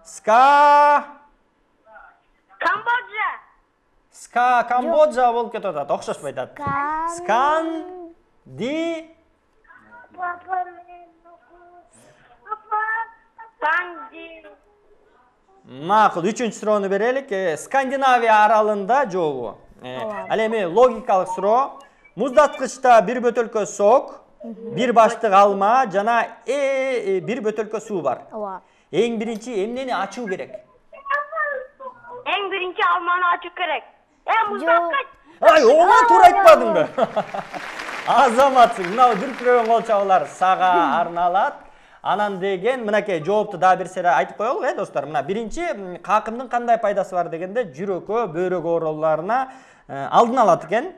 Ска
Камбоджа.
Ска Камбоджа болуп кетип атат, окшошпой атат. Скан ди Макул, үчүнчү суроону берелик. Скандинавия аралында жообу. Ал эми логикалык суроо. Муздаткычта бир бөтөлкө сок, бир баштык алма жана бир бөтөлкө суу бар. Эң биринчи эмнени ачуу керек?
Эң биринчи алманы ачуу керек. Э, муздаткыч.
Ай, оңо туура айтпадыңбы? Азаматсың. Мына дүркүрөгөн кол чабуулар сага арналат. Анан деген мынакей жоопту дагы бир сере айтып коелук, э, достор. Мына биринчи какымдын кандай пайдасы бар дегенде жүрөккө, бөйрөк ооруларына алдын алат экен.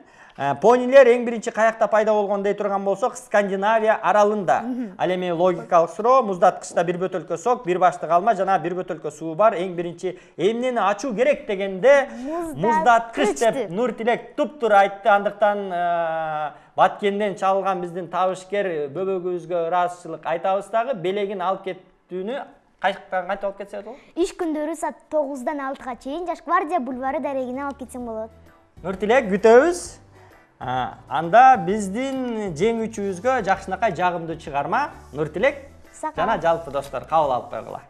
Понилер эң биринчи каякта пайда болгон дей турган болсок, Скандинавия аралында. Ал эми логикалык суроо, муздаткычта бир бөтөлкө сок, бир баштык алма жана бир бөтөлкө суу бар. Эң биринчи эмнени ачуу керек дегенде муздаткыч деп Нуртилек туп-туура айтты. Андыктан Баткенден чалган биздин табышкер бөбөгүбүзгө ыраазычылык айтабыз дагы. Белегин алып кеттүүнү кайчактан кайтып алып кетсе болот?
Иш күндөрү саат тогуздан алтыга чейин Жаш гвардия бульвары дарегине алып кетсең болот.
Нуртилек, күтөбүз. Анда биздин жеңүүчүбүзгө жакшынакай жагымдуу чыгарма Нуртилек жана жалпы достор кабыл алып койгула.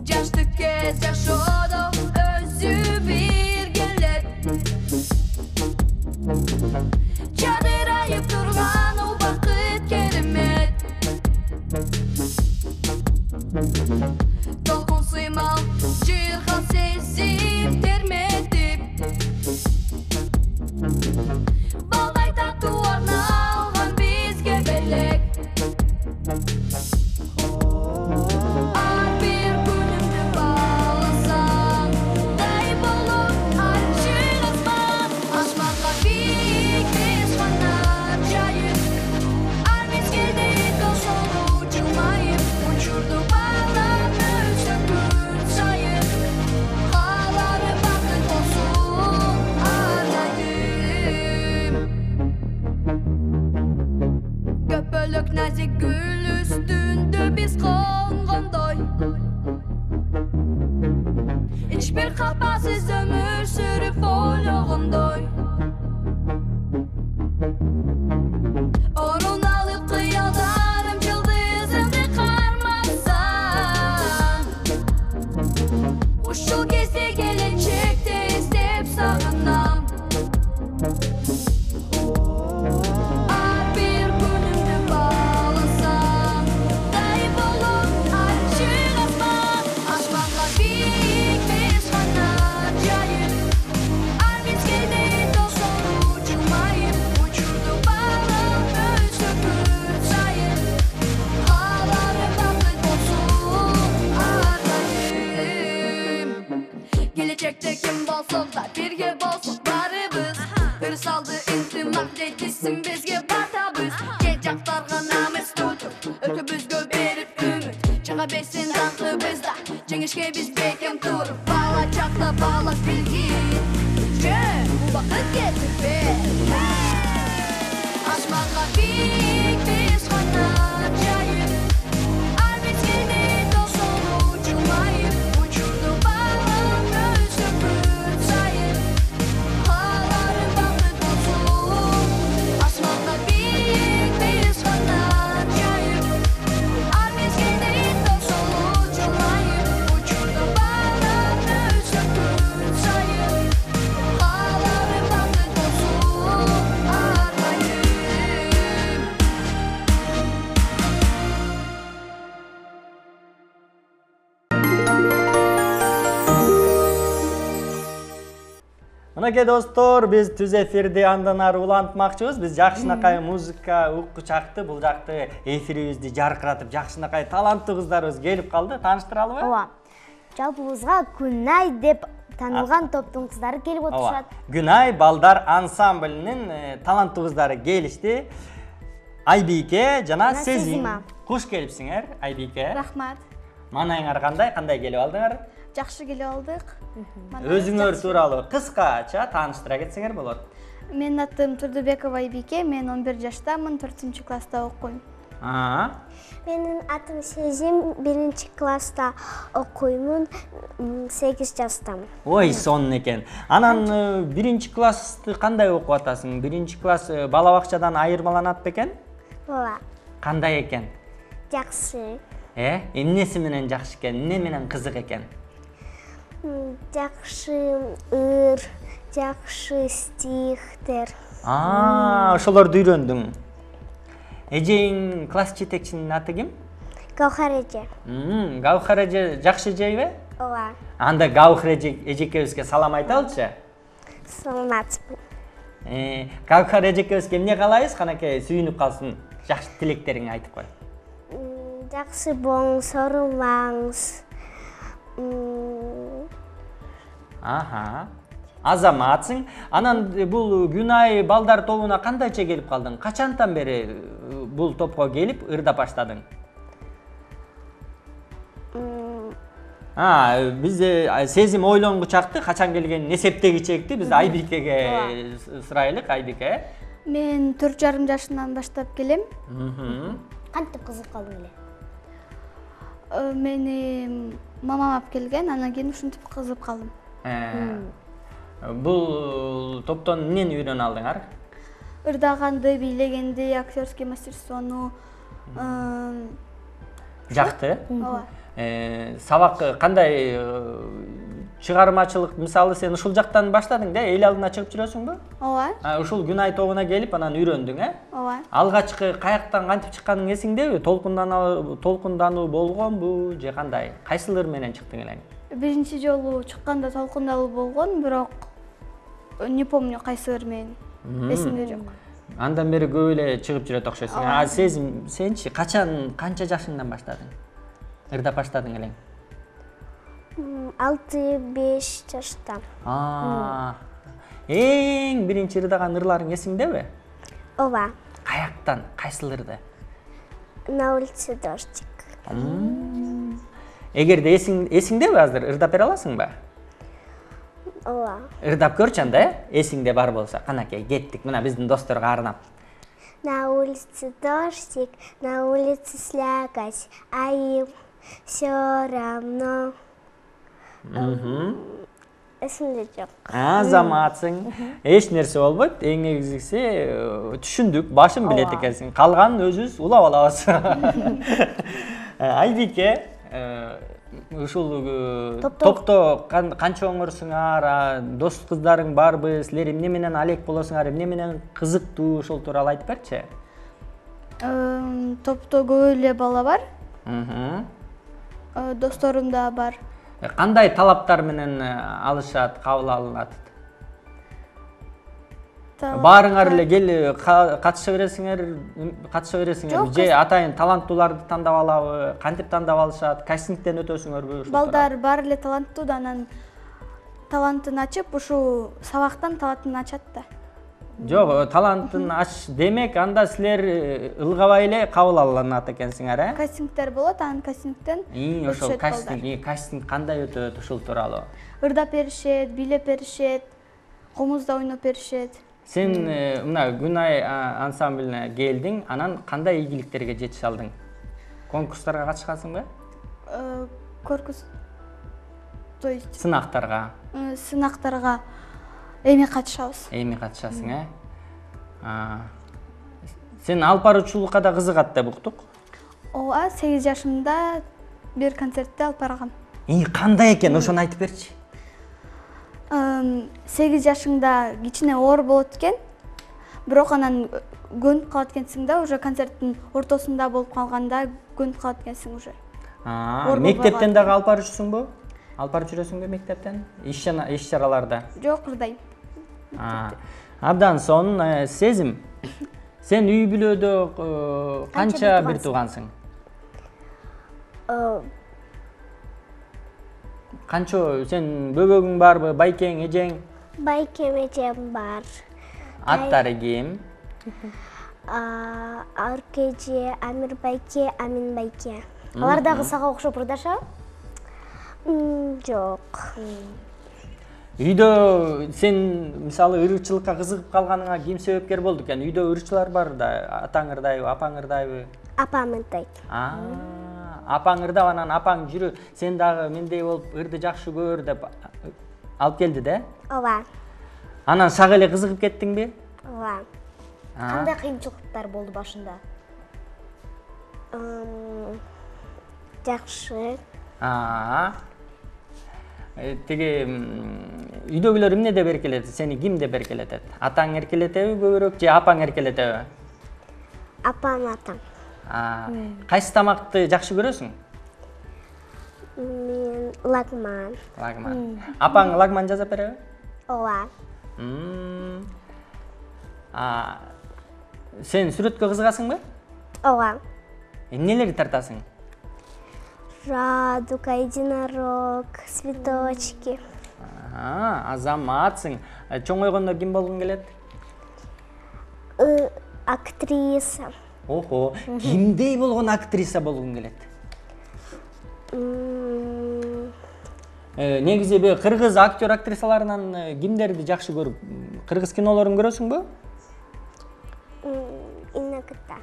Жаштык кез жашоодо өзү бир келет. Жадырайып турган ол бакыт керемет. Толкун сыймал ким болсок да бирге болсок барыбыз. Бир салды интимак дейтисиң бизге батабыз. Кел жактарга намыс тутуп, өтөбүзгө берип үмүт. Чыга берсин даңкы бизда, жеңишке биз бекем туруп. Бала чакта балак билгин, жөн убакыт кетип бер. Асманга бик биз канат жайып, ар мезгилде досону жылмайып, учурду балам өсүп бүт сайын. Кааларым бакыт болсун. Асманга бик биз канат жайып, ар мезгилде досону жылмайып, учурду балам өсүп бүт сайын. Кааларым бакыт болсун армайым.
Мынакей достор, биз түз эфирди андан ары улантмакчыбыз. Биз жакшынакай музыка уккучакты, бул жакты эфирибизди жаркыратып, жакшынакай таланттуу кыздарыбыз келип калды. Тааныштыралыбы?
Ооба. Жалпыбызга Күнай деп танылган топтун кыздары келип отурушат.
Күнай балдар ансамблинин э, таланттуу кыздары келишти. Айбике жана
Жана
Сезим.
Сезима.
Куш келипсиңер, Айбике?
Рахмат.
Маанайыңар кандай? Кандай келип алдыңар?
Жакшы келип алдык.
Өзүңөр тууралуу кыскача тааныштыра кетсеңер болот.
Менин атым Турдубекова Айбике, мен он бир жаштамын, төртүнчү класста окуйм.
Аа.
Менин атым Сезим, биринчи класста окуймун, сегиз жаштамын.
Ой, сонун экен. Анан э, биринчи классты кандай окуп атасың? Биринчи класс э, бала бакчадан айырмаланат бекен?
Ооба,
Кандай экен?
жакшы.
Э, эмнеси менен жакшы экен? Эмне менен кызык экен?
М, Жакшы ыр, жакшы стихтер.
Аа, ошолорду үйрөндүң. Эжең класс жетекчинин аты ким?
Гаухар эже.
Мм, Гаухар эже жакшы жейби?
Ооба,
Анда Гаухар эже эжекебизге салам айталычы.
саламатсызбы.
Э, Гаухар эжекебизге эмне каалайбыз? Канакей сүйүнүп калсын. Жакшы тилектериңди айтып кой.
М, Жакшы болуңуз, оорубаңыз. М,
Аха. Азаматсың. Анан э, бул Күнай балдар тобуна кандайча келип калдың? Качантан бери э, бул топко келип ырдап баштадың?
м,
А, биз э, Сезим ойлонгучакты, качан келгенин эсептегичекти биз Айбикеге сурайлык, Айбике.
Мен төрт жарым жашымдан баштап келем.
Мхм.
Кантип кызык калдың эле?
Э, Мени мамам алып келген, анан кийин ушинтип кызып калдым.
Э, Бул топтон эмнени үйрөнө алдыңар?
Ырдаганды, бийлегенди, актерский мастерствону. э,
Жакты.
Ооба.
Э, Сабак кандай э, чыгармачылык, мисалы сен ушул жактан баштадың да, эл алдына чыгып жүрөсүңбү?
Ооба.
А, ушул Күнай тобуна келип анан үйрөндүң, э?
Ооба.
Алгачкы каяктан кантип чыкканың эсиңдеби? Толкундануу, толкундануу болгонбу же кандай? Кайсылар менен чыктың элең?
Биринчи жолу чыкканда толкундалуу болгон, бирок не помню кайсылар менен. Эсимде жок.
Андан бери көп эле чыгып жүрөт окшойсуң.
Ооба.
А Сезим, сенчи качан, канча жашыңдан баштадың? Ырдап баштадың элең?
м, алты беш жашта.
А. Эң биринчи ырдаган ырларың эсиңдеби?
Ооба,
Каяктан, кайсыларды?
на улице дождик.
Эгерде эсиң эсиңдеби азыр ырдап бере аласыңбы?
Ооба.
Ырдап көрчү анда, э? Эсиңде бар болсо. Канакей, кеттик. Мына биздин досторго арнап.
На улице дождик, на улице слякоть, а им все равно.
Мхм.
Эсимде жок.
Азаматсың. Эч нерсе болбойт. Эң негизгиси э, түшүндүк, башын билет экенсиң. Калганын өзүбүз улап алабыз. Э, Айбике, э, ушул э, топто кан- канча оңорсуңар, а, дос кыздарың барбы? Силер эмне менен алек болосуңар, эмне менен кызыктуу, ошол тууралуу айтып берчи.
Э, Топто көп эле бала бар.
Мхм.
Э, Досторум да бар.
Э, Кандай талаптар менен э, алышат, кабыл алынат? Баарыңар эле кел ка- катыша бересиңер, катыша бересиңер же атайын таланттууларды тандап алабы? Кантип тандап алышат? Кастингден өтөсүңөрбү?
Балдар бар эле таланттуу да, анан талантын ачып, ушул сабактан талантын ачат да.
Жок, талантын ач демек, анда силер ылгабай эле кабыл алынат экенсиңер, э?
Кастингдер болот, анан кастингден
И, ошол кастинг, кастинг кандай өтөт ушул тууралуу?
Ырдап беришет, бийлеп беришет, комузда ойноп беришет.
Сен мына Күнай ансамблине келдиң, анан кандай ийгиликтерге жетише алдың? Конкурстарга катышкансыңбы?
Конкурс, то есть
сынактарга.
Сынактарга эми катышабыз.
Эми катышасың, э? Сен алып баруучулукка да кызыгат деп уктук.
Ооба, сегиз жашымда бир концертте алып баргам.
И, кандай экен, ошону айтып берчи.
сегиз жашыңда кичине оор болот экен, бирок анан көнүп калат экенсиң да, уже концерттин ортосунда болуп калганда көнүп калат экенсиң уже.
Мектептен дагы алып барчусуңбу? Алып барып жүрөсүңбү мектептен? Иш чараларда?
Жок, ырдайм.
Абдан сонун сезим. Сен үй бүлөдө канча бир туугансың? Канча, сен бөбөгүң барбы, байкең, эжең?
Байкем, эжем бар.
Аттары ким?
Арка эже, Амир байке, Амин байке.
Алар дагы сага окшоп ырдашабы?
Жок.
Үйдө сен мисалы ырчылыкка кызыгып калганыңа ким себепкер болду экен? Үйдө ырчылар бар да, атаң ырдайбы, апаң ырдайбы?
Апам ырдайт.
Апаң ырдап, анан апаң жүрү, сен дагы мендей болуп ырды жакшы көр деп алып келди да?
Ооба.
Анан сага эле кызыгып кеттиңби?
Ооба.
Кандай кыйынчылыктар болду башында?
Жакшы.
Теги үйдөгүлөр эмне деп эркелетет? Сени ким деп эркелетет? Атаң эркелетеби көбүрөөк же апаң эркелетеби?
Апам, атам.
Кайсы тамакты жакшы көрөсүң?
Мен лагман.
Лагман. Апаң лагман жасап береби?
Ооба.
Сен сүрөткө кызыгасыңбы?
Ооба.
Эмнелерди тартасың?
Радуга, единорог, цветочки.
Азаматсың. Чоңойгондо ким болгуң келет?
Актриса.
Охо, кимдей болгон актриса болгуң келет? Негизи бе кыргыз актер актрисаларынан кимдерди жакшы көрүп? Кыргыз кинолорун көрөсүңбү?
Иногда.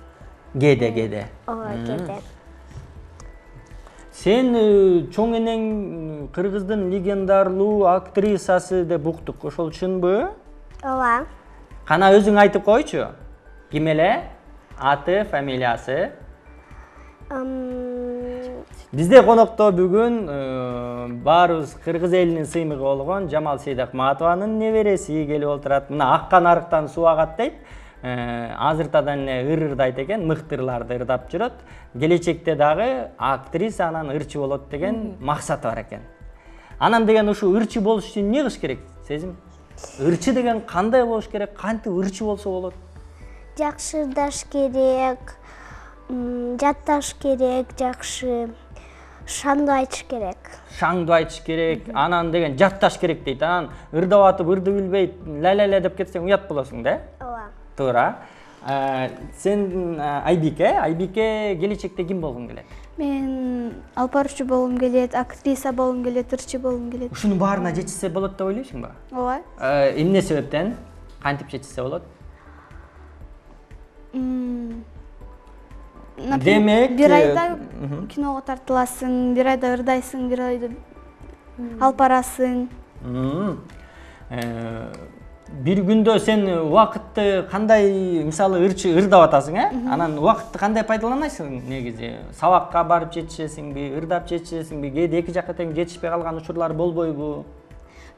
Кээде, кээде.
Ооба, кээде.
Сен чоң энең кыргыздын легендарлуу актрисасы деп уктук, ошол чынбы?
Ооба.
Кана өзүң айтып койчу. Ким эле? Аты, фамилиясы? Бизде конокто бүгүн баарыбыз кыргыз элинин сыймыгы болгон Жамал Сейдакматованын небереси келип отурат. Мына аккан арыктан суу агат дейт. Азыртадан эле ыр ырдайт экен, мыктырларды ырдап жүрөт. Келечекте дагы актриса анан ырчы болот деген максаты бар экен. Анан деген ушу ырчы болуш үчүн эмне кылыш керек? Сезим? Ырчы деген кандай болуш керек? Кантип ырчы болсо болот?
Жакшы ырдаш керек, жатташ керек, жакшы шаңдуу айтыш керек.
Шаңдуу айтыш керек, анан деген жатташ керек дейт. Анан ырдап атып, ырды билбей, ла-ла-ла деп кетсең уят болосуң да?
Ооба.
Туура. Сен Айбике, Айбике келечекте ким болгуң келет?
Мен алып баруучу болгум келет, актриса болгум келет, ырчы болгум келет.
Ушунун баарына жетишсе болот деп ойлойсуңбу?
Ооба.
Эмне себептен? Кантип жетишсе болот? Демек,
бир айда киного тартыласың, бир айда ырдайсың, бир айда алып барасың.
Бир күндө сен убакытты кандай, мисалы ырчы ырдап атасың, э? Анан убакытты кандай пайдаланасың негизи? Сабакка барып жетишесиңби, ырдап жетишесиңби, кээде эки жакка тең жетишпей калган учурлар болбойбу?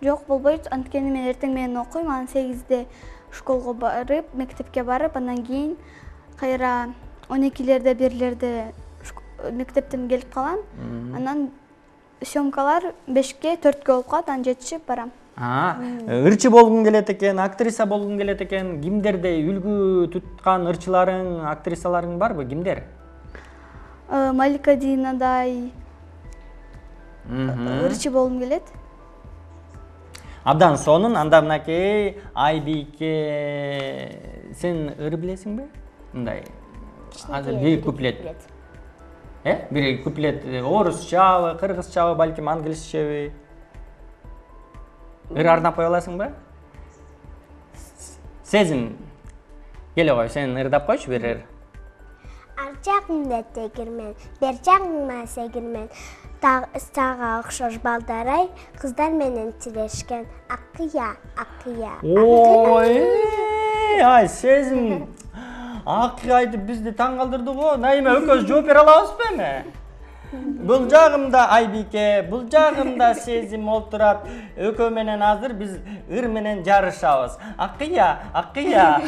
Жок, болбойт. Анткени мен эртең менен окуйм, анан сегизде школго барып, мектепке барып, андан кийин кайра он экилерде, бирлерде мектептен келип калам. Анан съемкалар бешке, төрткө болуп калат, анан жетишип барам.
Ырчы болгуң келет экен, актриса болгуң келет экен. Кимдердей үлгү туткан ырчыларың, актрисаларың барбы? Кимдер?
Малика Динадай ырчы болгум келет.
Абдан сонун. Анда мынакей Айбике, сен ыр билесиңби? Мындай азыр бир куплет. Э? Бир куплет орусчабы, кыргызчабы, балким англисчеби? Ыр арнап кое аласыңбы? Сезим, келе кой, сен ырдап койчу бир ыр.
Ар жагыңда тегирмен, бер жагыңа сегирмен. Сага окшош балдарай, кыздар менен тирешкен. Акыя, акыя.
Ой, ай, Сезим. Акыя айтып бизди таң калтырды го. Найма экөөбүз жооп бере алабызбы эми? Бул жагымда Айбике, бул жагымда Сезим отурат. Экөө менен азыр биз ыр менен жарышабыз. Акыя, акыя.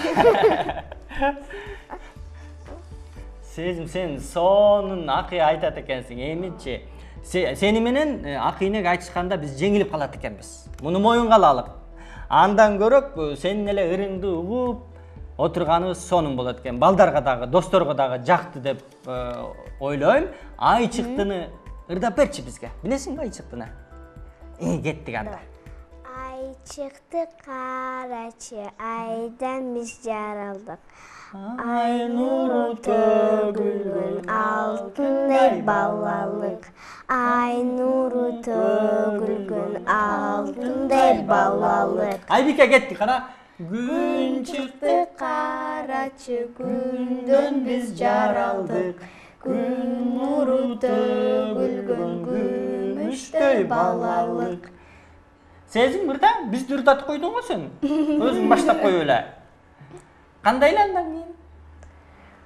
Сезим, сен сонун акыя айтат экенсиң. Эмичи, сени менен акыйнеге айтышканда биз жеңилип калат экенбиз. Муну моюнга алалык. Андан көрөк сенин эле ырыңды угуп отурганыбыз сонун болот экен. Балдарга дагы, досторго дагы жакты деп ойлойм. Ай чыктыны ырдап берчи бизге. Билесиңби ай чыктыны? Э, кеттик анда.
Ай чыкты карачы, айдан биз жаралдык. Ай нуру төгүлгөн алтындай балалык. Ай нуру төгүлгөн алтындай балалык.
Айбике кеттик, кана.
Күн чыкты карачы, күндөн биз жаралдык. Күн нуру төгүлгөн күмүштөй балалык.
Сезим мырда бизди ырдатып койдуң го сен. Өзүң баштап кой эле. Кандай эле андан кийин?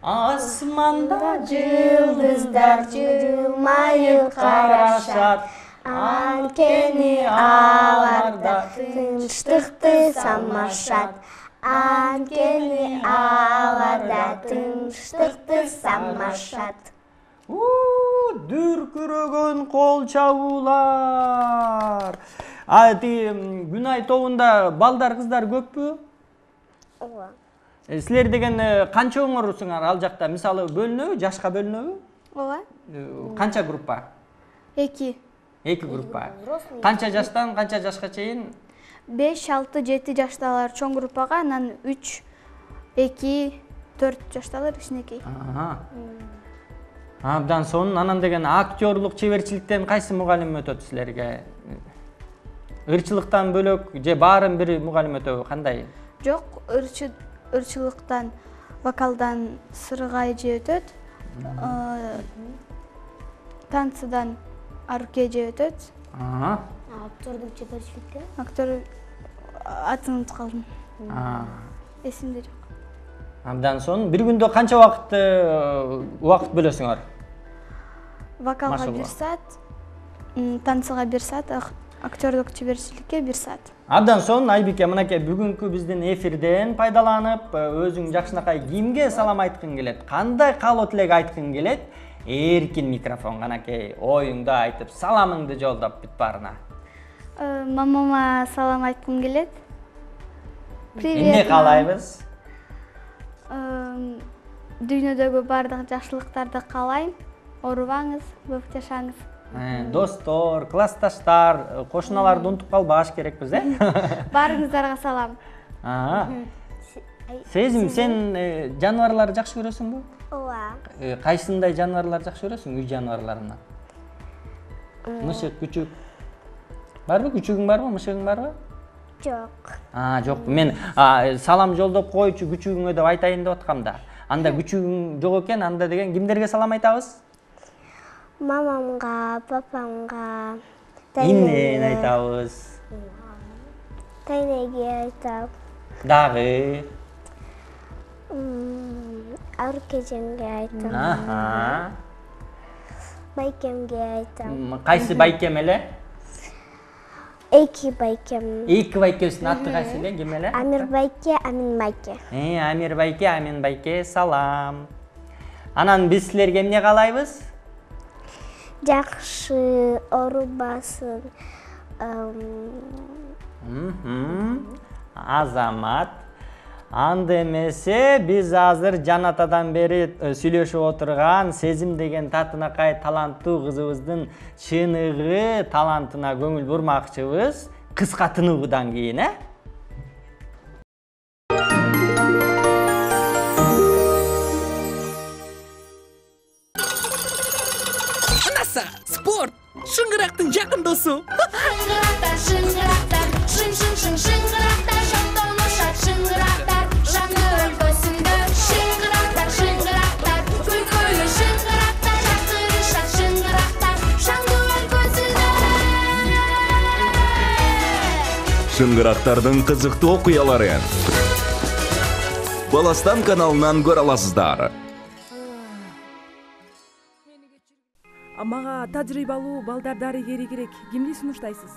Асманда
жылдыздар жылмайып карашат. Анткени аларда тынчтыкты самашат. Анткени аларда тынчтыкты самашат.
Дүркүрөгөн кол чабуулар. Ати Күнай тобунда балдар, кыздар көппү?
Ооба.
Силер деген канча оңорусуңар ал жакта? Мисалы бөлүнөбү, жашка бөлүнөбү?
Ооба.
Канча группа?
Эки.
Эки группа. Канча жаштан канча жашка чейин?
беш, алты, жети жаштагылар чоң группага, анан үч, эки, төрт жаштагылар кичинекей.
Абдан сонун. Анан деген актерлук чеберчиликтен кайсы мугалим өтөт силерге? Ырчылыктан бөлөк же баарын бир мугалим өтөбү? Кандай?
Жок, ырчылыктан, вокалдан Сыргай же өтөт. Танцыдан Арке же өтөт.
Актердук чеберчиликте?
Актер атын унутуп калдым. Эсимде жок.
Абдан сонун. Бир күндө канча убакыт убакыт бөлөсүңөр?
Вокалга бир саат, танцыга бир саат, актердук чеберчиликке бир саат.
Абдан сонун. Айбике, мынакей бүгүнкү биздин эфирден пайдаланып, өзүң жакшынакай кимге салам айткың келет? Кандай каалоо тилек айткың келет? Эркин микрофон, канакей оюңду айтып, саламыңды жолдоп бүт баарына.
Мамама салам айткым келет. Привет.
Эмне каалайбыз?
Дүйнөдөгү бардык жакшылыктарды каалайм. Оорубаңыз, көп жашаңыз.
Достор, классташтар, кошуналарды унутуп калбаш керекпиз, э?
Баарыңыздарга салам.
Сезим, сен жаныбарларды жакшы көрөсүңбү?
Ооба.
Кайсындай жаныбарларды жакшы көрөсүң? Үй жаныбарларынан? Мышык, күчүк. Барбы? Күчүгүң барбы? Мышыгың барбы?
Жок.
А, жок. Мен салам жолдоп койчу күчүгүңө деп айтайын деп аткам да. Анда күчүгүң жок экен, анда деген кимдерге салам айтабыз?
Мамамга, папамга,
Иннен айтабыз.
Тайнеге айтам.
Дагы.
Аркежемге айтам.
Аха.
Байкемге айтам.
Кайсы байкем эле?
Эки байкем.
Эки байкебиздин аты кайсы эле? Ким эле?
Амир байке, Амин байке.
Э, Амир байке, Амин байке, салам. Анан биз силерге эмне каалайбыз?
Жакшы оорубасын.
Азамат. Анда эмесе биз азыр жанатадан бери сүйлөшүп отурган Сезим деген татынакай таланттуу кызыбыздын чыныгы талантына көңүл бурмакчыбыз. кыска тынуудан кийин, э?
Анаса, спорт, шыңгырактын жакын досу.
Шыңгырактар, шыңгырактар, шың шың шың шыңгырактар, шаттанышат шыңгырактар, жаңы өлкөсүндө. Шыңгырактар, шыңгырактар, күлкүлүү шыңгырактар, жактырышат шыңгырактар, жаңы өлкөсүндө.
Шыңгырактардын кызыктуу окуяларын Баластан каналынан көрө аласыздар.
Мага тажрыйбалуу балдар дарыгери керек. Кимди сунуштайсыз?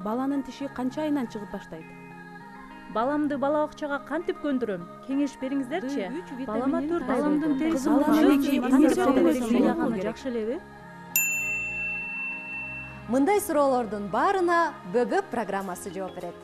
Баланын тиши канча айынан чыгып баштайт? Баламды бала бакчага кантип көндүрөм? Кеңеш бериңиздерчи. Балама төрт баламдын терisi жакшы элеби?
Мындай суроолордун баарына Бөбөк программасы жооп берет.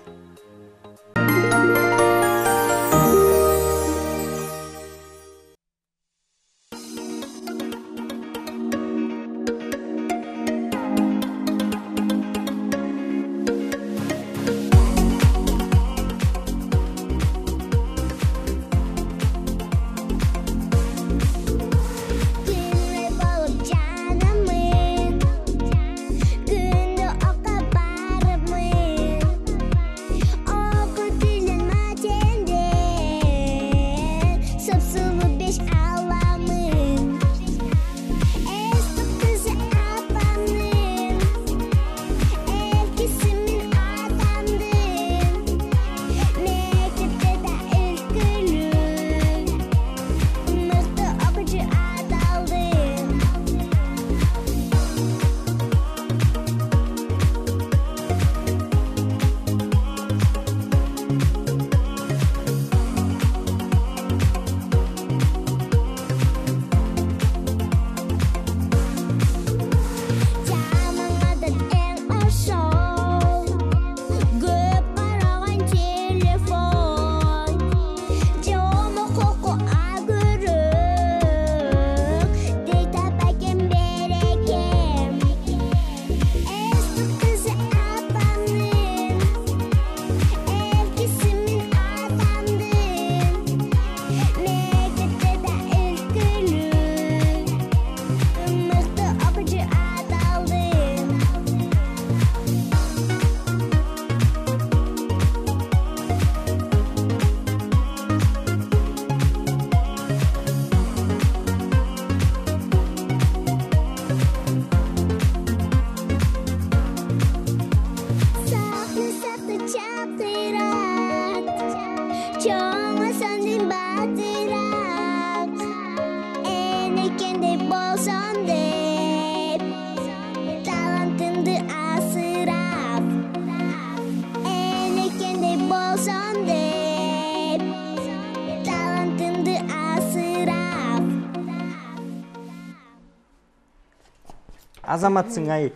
Азаматсың ай.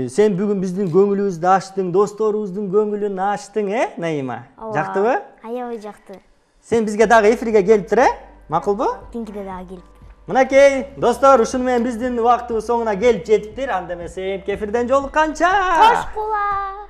Сен бүгүн биздин көңүлүбүздү ачтың, досторубуздун көңүлүн ачтың, э, Наима? Жактыбы?
Аябай жакты.
Сен бизге дагы эфирге келип тур, э? Макулбу?
Тинкиде дагы келип.
Мынакей, достор, ушуну менен биздин убактыбыз соңуна келип жетиптир. Анда эмесе эфирден жолукканча.
Кош кула.